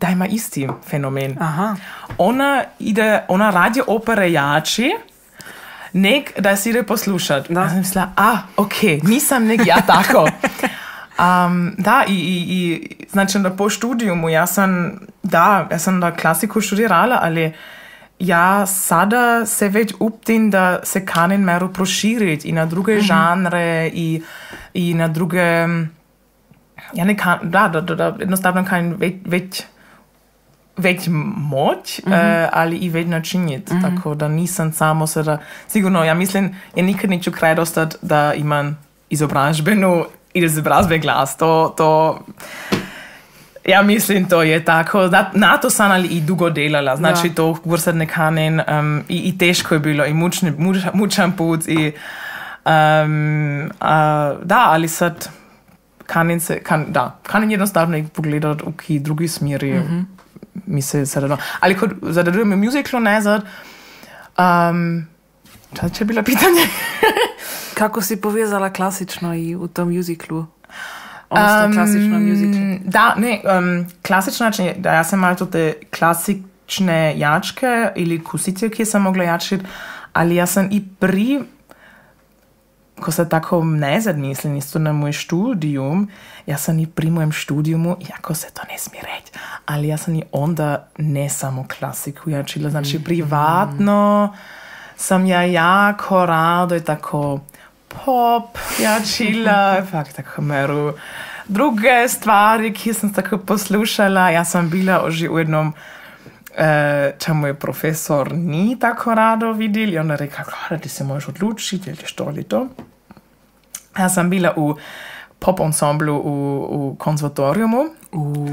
da ima isti fenomen. Aha. Ona ide, ona radi opere jači, nek da si ide poslušat. Da. Ja sam mislila, a, ok, nisam nek ja tako. um, da, i, i, i znači da po študijumu, ja sam, da, ja sam da klasiku študirala, ali ja sada se već uptim da se kanim meru proširiti i na druge mm-hmm. žanre i, i na druge, ja ne kan, da, da, da, da jednostavno kan već, već već moć, mm-hmm. uh, ali i već načiniti. Mm-hmm. Tako da nisam samo sada, sigurno, ja mislim, ja nikad neću kraj dostat da imam izobražbenu i izobrazbe glas. To, to, ja mislim, to je tako. Na to sam ali i dugo delala. Znači, ja. To gursat ne kanen um, i, i teško je bilo i mučni, muč, mučan put i um, uh, da, ali sad kanen se, kan, da, kanen jednostavno i pogledat u ki drugi smjeri. Mm-hmm. Mi se sada, ali kod zadržujemo muziklu nazad, um, šta će bilo pitanje? Kako si povezala klasično i u tom muziklu? Odnosno um, klasično muziklu? Da, ne, um, klasično, znači, da ja sam malo te klasične jačke ili kusice, ki sam mogla jačiti, ali ja sam i pri, ko se tako nazad mislim, isto na moj študijum, ja sam i pri mojem študijumu, iako se to ne smije reći, ali ja sam i onda ne samo klasiku jačila, znači privatno sam ja jako rado i tako pop jačila, fakt tako meru druge stvari, ki sam tako poslušala. Ja sam bila oži u jednom e, čemu je profesor ni tako rado vidjel i onda rekla, da ti se možeš odlučiti, ili što li to. Ja sam bila u pop ensemblu u, u konzervatorijumu. Uh.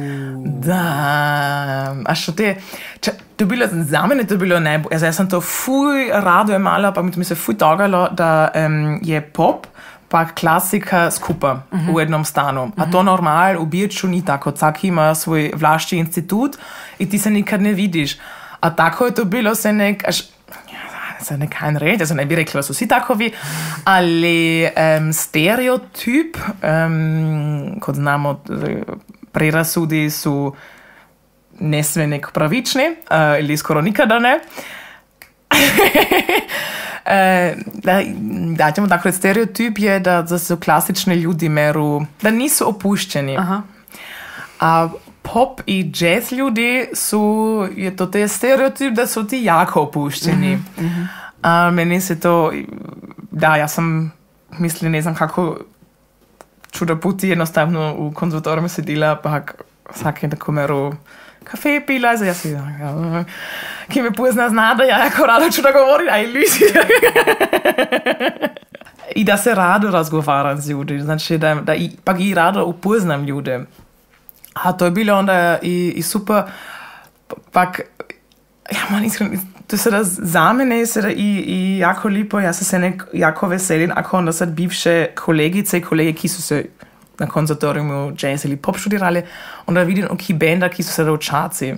Da, a što te, če, to bilo za mene, to bilo najbolj, ja, ja sam to fuj rado imala, pa mi se fuj dogalo, da um, je pop pa klasika skupa uh-huh. u jednom stanu. A to normal u Birču ni tako, vsak ima svoj vlašći institut i ti se nikad ne vidiš. A tako je to bilo se nek, až, se ne kan reći, ja se ne bi rekla, da su svi takovi, ali um, stereotyp, um, kod znamo, prerasudi su ne sve nek pravični, uh, ili skoro nikada ne. e, da, da ćemo tako reći, stereotyp je da, da su klasični ljudi meru, da nisu opušteni. Aha. A pop i jazz ljudi su, je to te stereotyp da su ti jako opušteni. Mm-hmm. A meni se to, da, ja sam, mislim, ne znam kako čuda puti jednostavno u konzervatoriju sedila, pa vsake tako meru kafe pila, ja si, ja, ki me pozna zna, da ja jako rado čuda govorim, aj ljudi. I da se rado razgovaram z ljudi, znači da, da i, pa i rado upoznam ljude. A to je bilo onda i, i super, pak, ja man iskreno, to sada za mene je sada i, i jako lipo, ja se se nek jako veselim, ako onda sad bivše kolegice i kolege, ki su se na konzervatorijumu jazz ili pop študirali, onda vidim oki benda, ki su sada u čaci.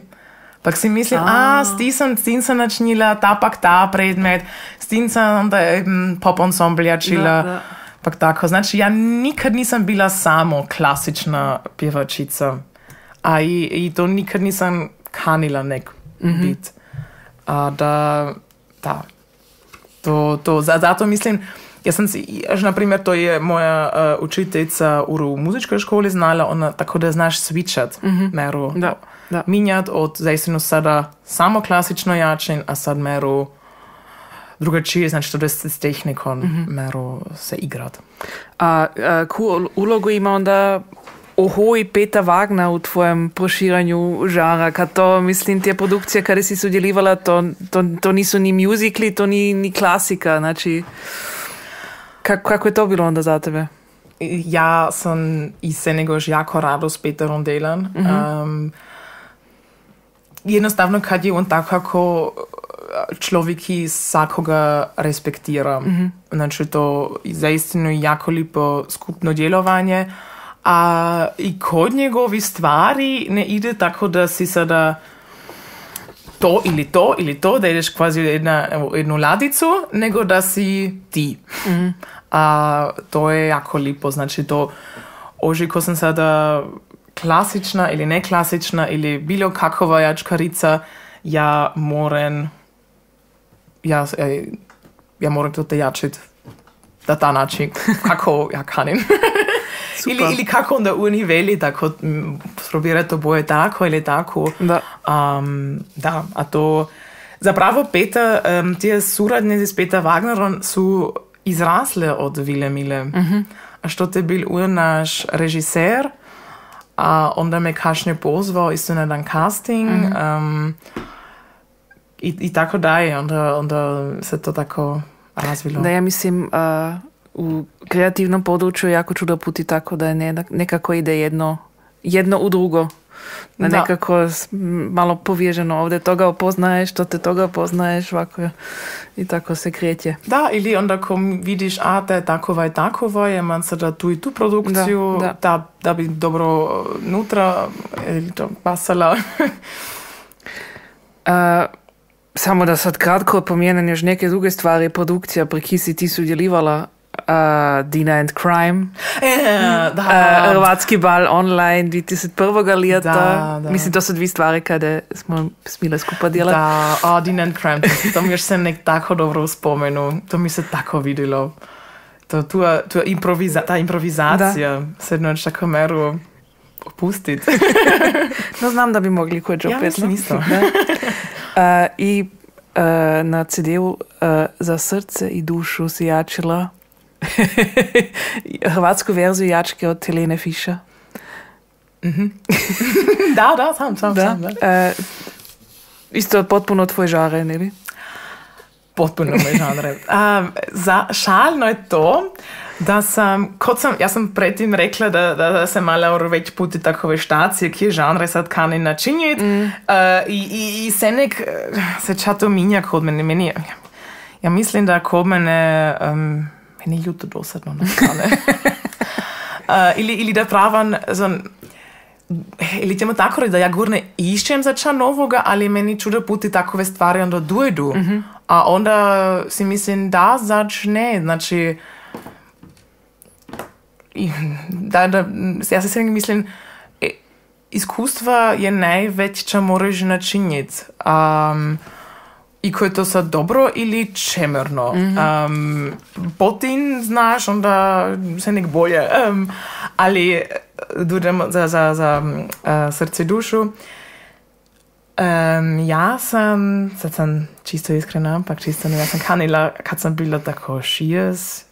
Pak si mislim, a, s tim sam, s tim sam načinila, ta pak ta predmet, s tim sam onda um, pop ensemble jačila. Da, da. Pak tako, znači ja nikad nisam bila samo klasična pjevačica, a i, i to nikad nisam kanila nek mm-hmm. bit. A da, da, to, to, zato mislim, ja sam si, až na primjer, to je moja uh, učiteljica u muzičkoj školi znala, ona tako da znaš switchat, mm-hmm. meru da, da. minjat od zaistinu sada samo klasično jačin, a sad meru drugačije, znači to da se s tehnikom mm-hmm. meru se igrat. A, a koju ulogu ima onda Oho i Peter Wagner u tvojem proširanju žara, kad to, mislim, te produkcije kada si sudjelivala, to, to, to nisu ni musicali, to ni, ni klasika, znači, kako, kako je to bilo onda za tebe? Ja sam i se negož jako rado s Peterom delan. Mm-hmm. Um, jednostavno, kad je on tako kako človek, ki vsakoga respektira. Mm-hmm. Znači, to je zaistinu jako lipo skupno djelovanje. A i kod njegovi stvari ne ide tako da si sada to ili to ili to, da ideš kvazi u jedna, jednu ladicu, nego da si ti. Mm-hmm. A to je jako lipo. Znači, to oži ko sam sada klasična ili neklasična ili bilo kakova jačkarica, ja moram ja, ja moram to te jačit na ta način kako ja kanim. ili, ili kako onda oni veli tako probira to boje tako ili tako. Da. Um, da, a to zapravo Peter, um, te suradnice s Peter Wagnerom su izrasle od Vile Mile. Mm-hmm. A što te bil ur naš režiser, a onda me kašnje pozvao isto na dan casting. Mm-hmm. um, i, i tako dalje. Onda, onda se to tako razvilo. Da, ja mislim uh, u kreativnom području jako čudo puti tako da je nekako ide jedno, jedno u drugo. Da, da nekako malo povježeno ovdje toga opoznaješ, to te toga opoznaješ ovako i tako se kreće. Da, ili onda ko vidiš, a da je takova i takova, je man sada tu i tu produkciju, da, da. Da, da bi dobro nutra ili to pasala. uh, samo da sad kratko pomijenem još neke druge stvari, produkcija pri ki si ti sudjelivala. Uh, Dina and Crime, e, da. Uh, Hrvatski bal online dvije tisuće prvog leta. Da, da. Mislim, to su dvije stvari kada smo smile skupa djelati. Da, oh, Dina and Crime, to, to mi još se nek tako dobro spomenu. To mi se tako vidjelo. To, tu, tu improviza, ta improvizacija, sednoć na kameru opustiti. No, znam da bi mogli koje opet. Ja mislim isto. uh, I uh, na ce de u uh, Za srce i dušu si jačila hrvatsku verziju jačke od Helene Fischer. Mm-hmm. da, da, sam, sam, da. sam. Da. Uh, isto potpuno tvoj žare, ne li? Potpuno moj žanre. Um, za šalno je to, da sam, kot sam, ja sam predtem rekla, da, da, da se malo več puti takove štacije, kje žanre sad kani načinjiti. Mm. Uh, i, i, I se nek se čato minja kod mene. Meni, ja mislim, da kod mene um, meni je ljuto dosadno. uh, ili, ili da pravan zon, ili ćemo tako reći da ja gurne išćem za ča novoga, ali meni čudo puti takove stvari onda dojdu. Mm-hmm. A onda si mislim da začne, znači da, da, ja se sve mislim iskustva je najveće čo moraš načiniti. Um, I ko je to sad dobro ili čemerno. Mm-hmm. Um, potin znaš, onda se nek bolje. Um, ali dudem za, za, za uh, srce i dušu. Um, ja sam, sad sam čisto iskrena, ampak čisto ne, ja sam kanila, kad sam bila tako šest,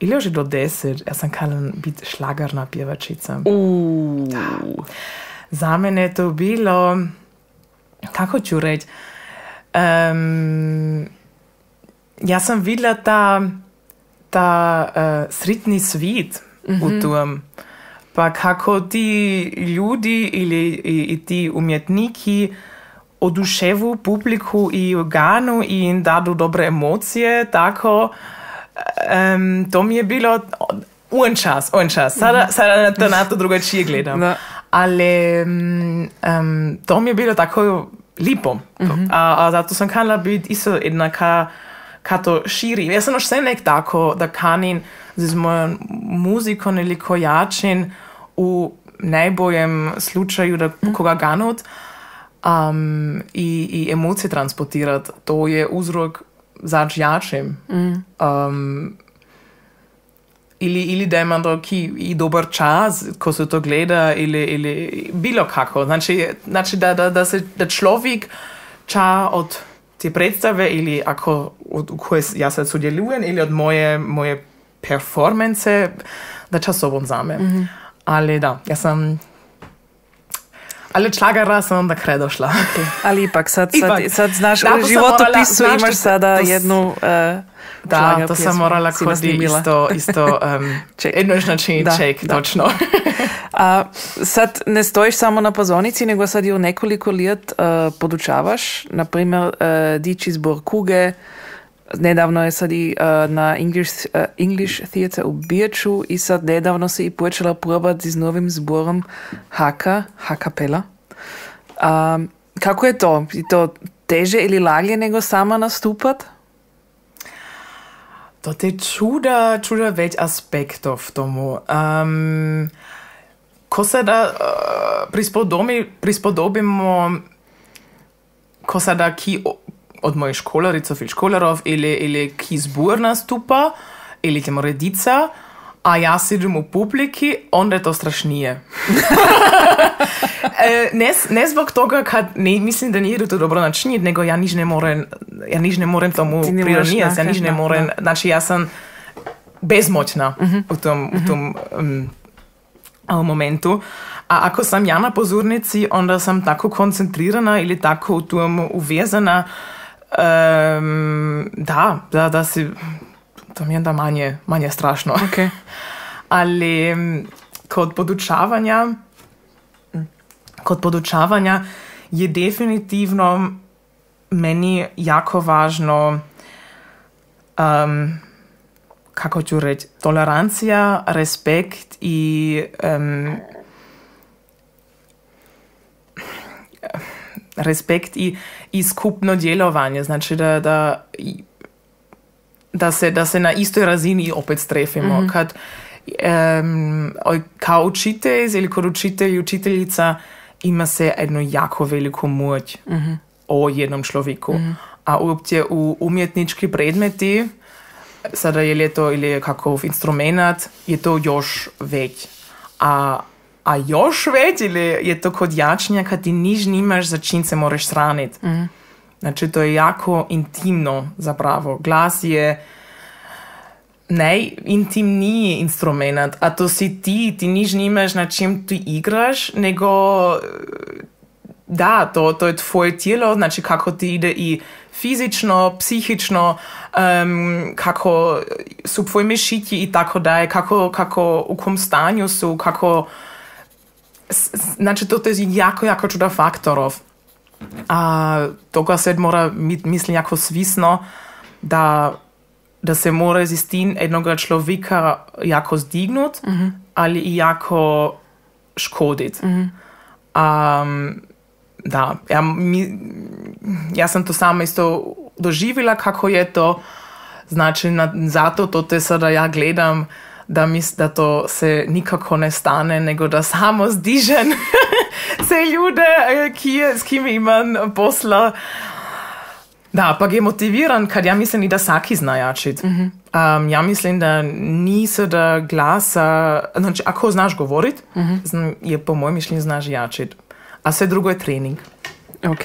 ili još do deset, ja sam kanila biti šlagarna pjevačica. Uh. Da. Za mene je to bilo, kako ću reći, um, ja sam vidjela ta, ta uh, sritni svit mm-hmm. u tom. Pa kako ti ljudi ili i, i ti umjetniki oduševu publiku i organu i im dadu dobre emocije, tako um, to mi je bilo un čas, un čas. Sada, sada na to, na to drugačije gledam. Da. Ali um, to mi je bilo tako lipo. Mm-hmm. A, a zato sam kanila biti isto jedna ka, ka to širi. Ja sam još sve nek tako da kanin z mojom muzikom ili kojačin u najboljem slučaju da koga ganut um, i, i emocije transportirati. To je uzrok zač jačim. Mm. Um, ili, ili da ima doki i dobar čas, ko se to gleda, ili, ili bilo kako. Znači, znači da, da, da, se, da človek ča od te predstave ili ako od koje ja sad sudjelujem ili od moje, moje performance, da ča sobom zame. Mm-hmm. Ali da, ja sam... Ali šlagara sam onda kraj došla. Okay. Ali ipak, sad, sad, sad znaš, da, u životopisu morala, imaš sada to, jednu uh, da, to sam morala kod isto, isto um, jednoš način da, ček, da. točno. A sad ne stojiš samo na pozornici, nego sad ju nekoliko let uh, podučavaš, na primjer uh, diči zbor Kuge, nedavno je sad i uh, na English, uh, English Theatre u Birču i sad nedavno se i počela probati s novim zborom Haka, Hakapela. Um, kako je to? Je to teže ili laglje nego sama nastupat? To je čuda, čuda več aspektov tomu. Um, ko se da uh, prispodobi, prispodobimo, ko se da ki od mojih školaric, ili školarov, ili, ili ki zbor nastupa, ili ki moredica, a ja sedim u publiki, onda je to strašnije. ne, ne zbog toga, kad ne, mislim da nije to dobro načiniti, nego ja nič ne morem, ja nič ne morem tomu prironijati, ja nič ne morem, da. Znači ja sam bezmoćna uh-huh. u tom, uh-huh. u tom um, momentu. A ako sam ja na pozornici, onda sam tako koncentrirana ili tako u tom uvezana, um, da, da, da si... To mi je onda manje, manje strašno. Okay. Ali kod podučavanja, kod podučavanja je definitivno meni jako važno, um, kako ću reći, tolerancija, respekt i um, respekt i, i skupno djelovanje. Znači da, da Da se, da se na istoj razini opet strefimo. Mm-hmm. Kad um, kao učitelj ili kod učitelj i učiteljica ima se jednu jako veliku moć mm-hmm. o jednom človeku. Mm-hmm. A uopće u umjetnički predmeti, sada je li to ili kakov instrumenat, je to još već. A, a još već ili je to kod jačnja kad ti niš nimaš za čim se moraš sraniti. Mm-hmm. Znači, to je jako intimno zapravo. Glas je najintimniji instrument, a to si ti, ti niš nimaš na čem ti igraš, nego da, to, to je tvoje tijelo, znači kako ti ide i fizično, psihično, um, kako su tvoje mišići i tako dalje, kako, kako u kom stanju su, kako... Znači, to je jako, jako čuda faktorov. A toga se mora mislim jako svisno da, da se mora z istin jednoga človeka jako zdignut, mm-hmm. ali i jako škodit. Mm-hmm. Um, da, ja, mi, ja sam to sama isto doživjela kako je to, znači na, zato to te sada ja gledam da, mis, da to se nikako ne stane, nego da samo zdižem se ljude, ki, s kim imam posla. Da, pa je motiviran, kad ja mislim i da saki zna jačit. Mm-hmm. Um, ja mislim da nisi da glasa, znači ako znaš govorit, mm-hmm. je po mojem mišljenju znaš jačit. A sve drugo je trening. Ok.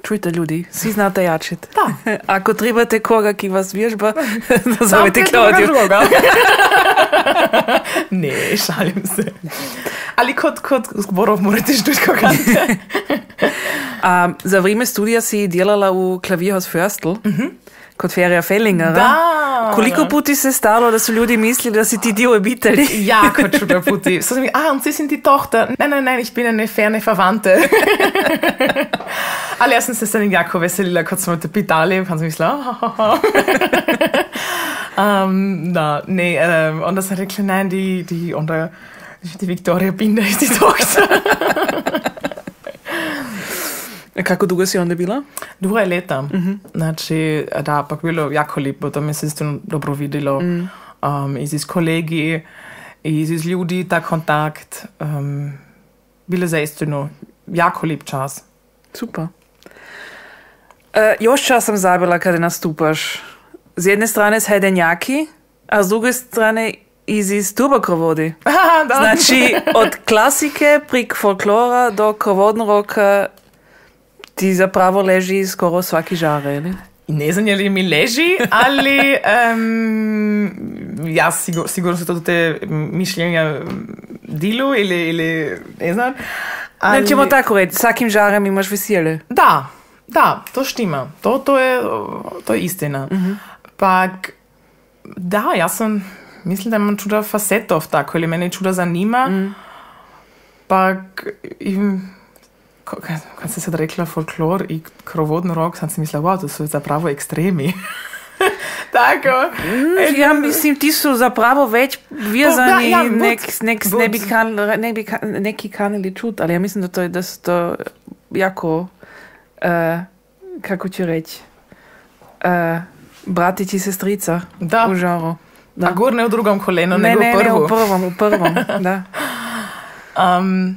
Čujte ljudi, svi znate jačit. Da. Ako trebate koga, ki vas vježba, nazovite Klaudiju. Ne, šalim se. Ali kod, kod zborov morate študiti koga. A za vrijeme studija si djelala u Klavierhaus Förstl, mm-hmm. kod Ferija Fellingera. Da. Koliko puti se stalo da su ljudi mislili da si ti dio obitelji? Jako čudo puti. So sam mi, ah, und sie sind die Tochter. Nein, nein, nein, ich bin eine ferne Verwandte. Ali ja sam se sad jako veselila kad smo te pitali, pa sam mislila, oh, um, da, ne, um, onda sam rekla, nein, die, die, onda, die Victoria Binder ist die Tochter. Kako dugo si onda bila? Dve leta. Mm-hmm. Znači, da, pa bilo jako lijepo, to mi se isto dobro videlo. Mm. Um, i z kolegi, i z ljudi, ta kontakt. Um, bilo zaistino jako lijep čas. Super. E, još čas sam zabila kada nastupaš. S jedne strane s Hajdenjaki, a s druge strane iz, iz turbokrovodi. Znači, od klasike prek folklora do krovodnog roka ti zapravo leži skoro svaki žar, ili? Ne znam je li mi leži, ali um, ja sigur, sigurno su to te mišljenja dilu ili, ili ne znam. Ali... Ne ćemo tako reći, svakim žarem imaš veselje. Da, da, to štima. To, to, je, to je istina. Mm-hmm. Pak, da, ja sam, mislim da imam čuda facetov tako, ili mene čuda zanima. Mm. Pa kad se sad rekla folklor i krovodni rok, sam si mislila, wow, to su zapravo ekstremi. Tako. Mm, ja mislim, ti su zapravo već vezani, ja, nek, nek, ne bi kan, ne bi kan, neki kanili čut, ali ja mislim da, to, da su to jako, uh, kako ću reći, uh, bratić i sestrica da. U žaru. Da. A gor ne u drugom kolenu, ne, nego ne, u prvu. Ne, u prvom, u prvom, da. Um,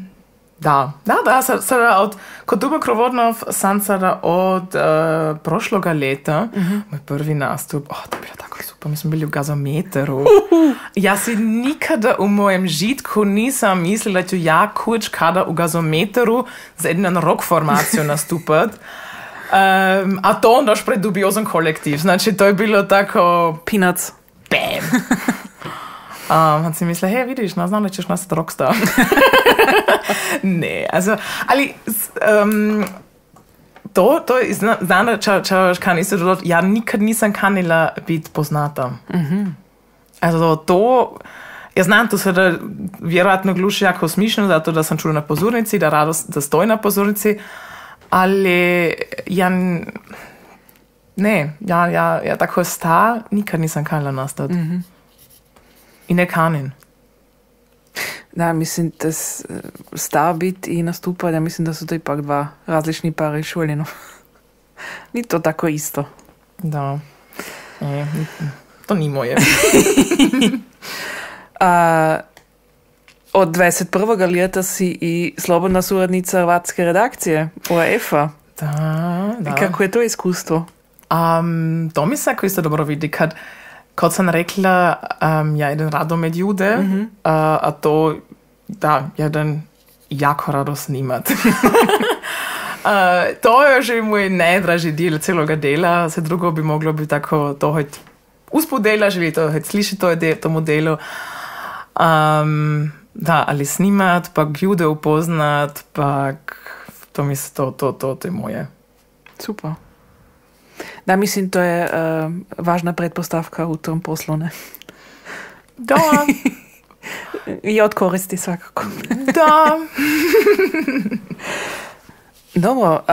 da, da, da, sada od, kod Dubo Krovodnov sam sada od uh, prošloga leta, uh-huh. moj prvi nastup, oh, to je bilo tako super, mi smo bili u gazometeru. Uh-huh. Ja si nikada u mojem žitku nisam mislila da ću ja kuć kada u gazometeru za jednu rock formaciju nastupat. Um, a to onda još pred dubiozan kolektiv, znači to je bilo tako... Peanuts. Bam! Um, on si misle, hej, vidiš, no, znam da ćeš nastati rockstar. Ne, also, ali um, to, to je, zna, znam da ča, ča, kan isto dodati, ja nikad nisam kanila biti poznata. Mm-hmm. Also, to, ja znam to sada vjerojatno gluši jako smišno, zato da sam čula na pozornici, da rado da stoji na pozornici, ali ja ne, ja, ja, ja tako star nikad nisam kanila nastati. Mm-hmm. I ne kanin. Da, mislim, da star biti i nastupati, ja mislim da su to ipak dva različni pari šoljeno. Ni to tako isto. Da. E, to ni moje. A, od dvadeset prvog leta si i slobodna suradnica hrvatske redakcije O R F-a. Da, da. Kako je to iskustvo? Um, to mi se ako isto dobro vidi, kad Kot sam rekla, um, ja idem rado med ljude, mm-hmm. uh, a to, da, ja idem jako rado snimat. uh, to je že moj najdraži del celoga dela, se drugo bi moglo biti tako, to hoď uspod dela, želi to hoď slišati to de, tomu delu. Um, da, ali snimat, pa ljude upoznat, pa to mislim, to, to, to, to je moje. Super. Da, mislim, to je uh, važna pretpostavka u tom poslu, ne? Da. I od koristi svakako. Da. Dobro,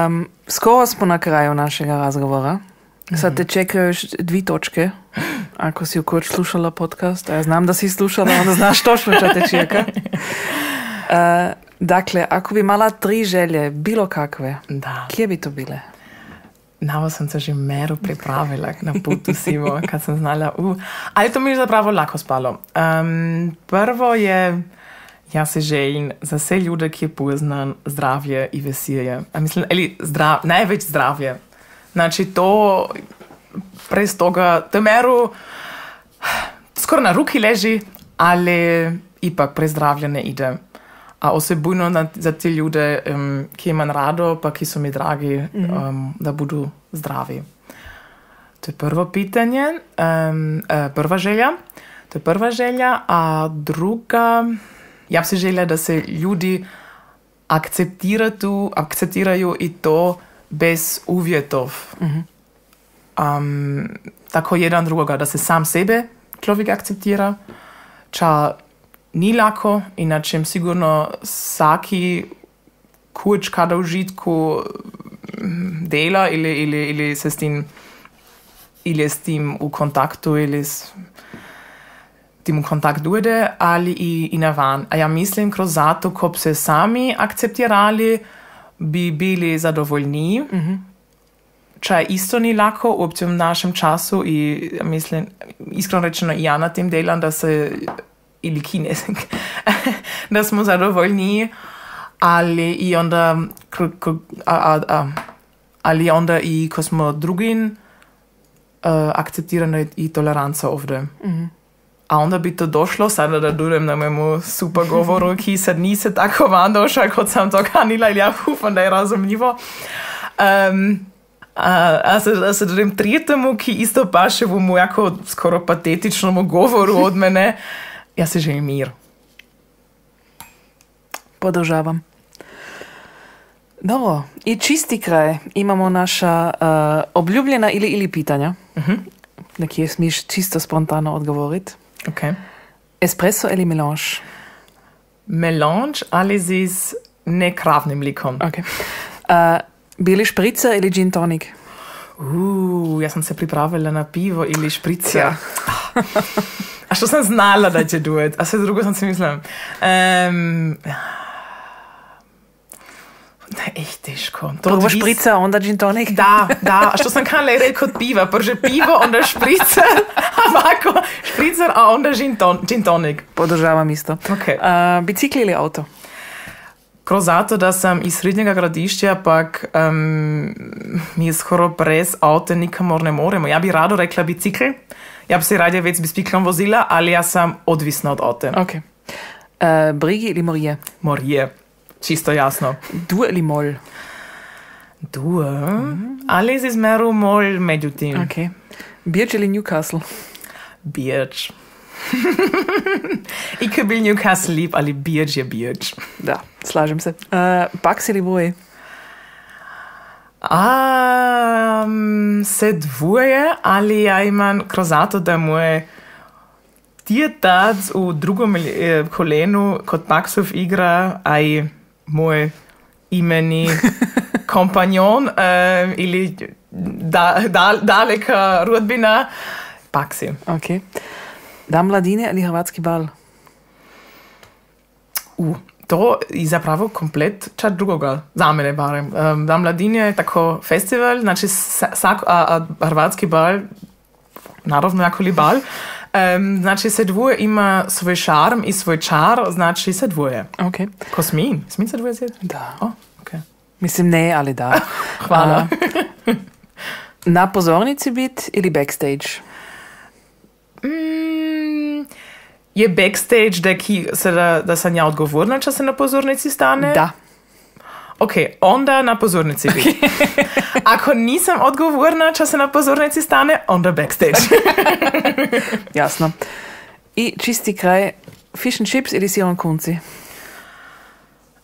um, skoro smo na kraju našega razgovora. Sad te čekaju još dvi točke. Ako si ukoč slušala podcast, a ja znam da si slušala, onda znaš točno što te čeka. Uh, dakle, ako bi mala tri želje, bilo kakve, da. Kje bi to bile? Navo sam se že meru pripravila na putu sivo, kad sam znala, uh, ali to mi je zapravo lako spalo. Um, prvo je, ja se želim za vse ljude, ki poznam zdravje i veselje. A mislim, ali zdrav, največ zdravje. Znači to, prez toga, to meru skoro na ruki leži, ali ipak prez zdravje ne ide. A osebujno za te ljude, um, ki imam rado, pa ki su mi dragi, mm-hmm. um, da budu zdravi. To je prvo pitanje, um, uh, prva želja. To je prva želja, a druga, ja bi si želja da se ljudi akceptiraju, akceptiraju i to bez uvjetov. Mm-hmm. Um, tako jedan drugoga, da se sam sebe človek akceptira, ča ni lako, inače sigurno vsaki kuć kada u žitku dela ili, ili, ili se s tim ili s tim u kontaktu ili s tim u kontakt dojde, ali i, i na van. A ja mislim, kroz zato, ko bi se sami akceptirali, bi bili zadovoljni. Mm-hmm. Čaj isto ni lako u obcem našem času i mislim, iskreno rečeno i ja na tem delam, da se ili kinesek, da smo zadovoljni, ali i onda, a, a, a, ali onda i ko smo drugim uh, akceptirani i toleranca ovdje. Mm-hmm. A onda bi to došlo, sada da dodam na mojemu super govoru, ki sad nise tako van došla, kot sam to kanila, ili ja ufam da je razumljivo. Um, a, a, se, a se dodam trijetemu, ki isto paše v mu jako skoro patetičnому govoru od mene, ja se želim mir. Podržavam. Dobro, i čisti kraj. Imamo naša uh, obljubljena ili ili pitanja. Uh-huh. Na kje smiš čisto spontano odgovoriti. Okay. Espresso ili melange? Melange, ali z nekravnim mlikom. Okay. Uh, bili špricer ili gin tonic? Uh, ja sam se pripravila na pivo ili špricer. A što sam znala da će duet, a sve drugo sam si mislila. Um, ne, echt teško. Prvo špricer, onda gin tonic? Da, da, a što sam kanala reći kod piva, prže pivo, onda špricer, ovako špricer, a onda gin, ton, gin tonic. Podržavam isto. Okay. Uh, bicikli ili auto? Kroz zato, da sam iz srednjega gradišća, pak um, mi je skoro brez avta nikamor ne moremo. Ja bi rado rekla bicikl, ja bi se radije več s biciklom vozila, ali ja sam odvisna od avta. Okay. Uh, brigi ili morje? Morje, čisto jasno. Dur ili mol? Dur, mm-hmm. ali z izmeru mol međutim. Okay. Birch ili Newcastle? Birch. Ik bil Newcastle lieb, ali Birch je Birch. Da, slažem se. Uh, Pax ili Voje? Um, se dvoje, ali ja imam kroz zato, da moje djetac v drugom eh, kolenu kot Paxov igra, aj moj imeni kompanjon um, ili da, da, daleka rodbina Paxi. Okay. Dan mladine ali hrvatski bal? Uh, to je zapravo komplet čat drugoga, za mene barem. Um, Dan mladine je tako festival, znači sak, a, a hrvatski bal, naravno jakoli bal, um, znači se dvoje ima svoj šarm i svoj čar, znači se dvoje. Okay. Ko smim? Smim se dvoje zjeti? Da. Oh, okay. Mislim ne, ali da. Hvala. Uh, na pozornici bit ili backstage? Mm, je backstage, da, ki, se da, da sam ja odgovorna, če se na pozornici stane? Da. Ok, onda na pozornici biti. Ako nisam odgovorna, če se na pozornici stane, onda backstage. Jasno. I čisti kraj, fish and chips ili siron kunci?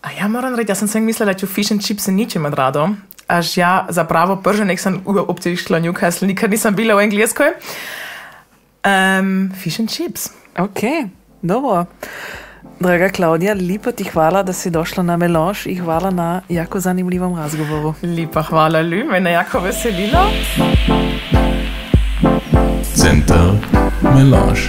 A ja moram reći, ja sam sve mislila, da ću fish and chips ničem od rado. Až ja zapravo prže nek sam uopće išla Newcastle, nikad nisam bila u Engleskoj. Um, fish and chips. Ok, dobro. Draga Klaudija, lipa ti hvala, da si došla na Melange i hvala na jako zanimljivom razgovoru. Lipa hvala, Lju, mene jako veselilo. Center Melange.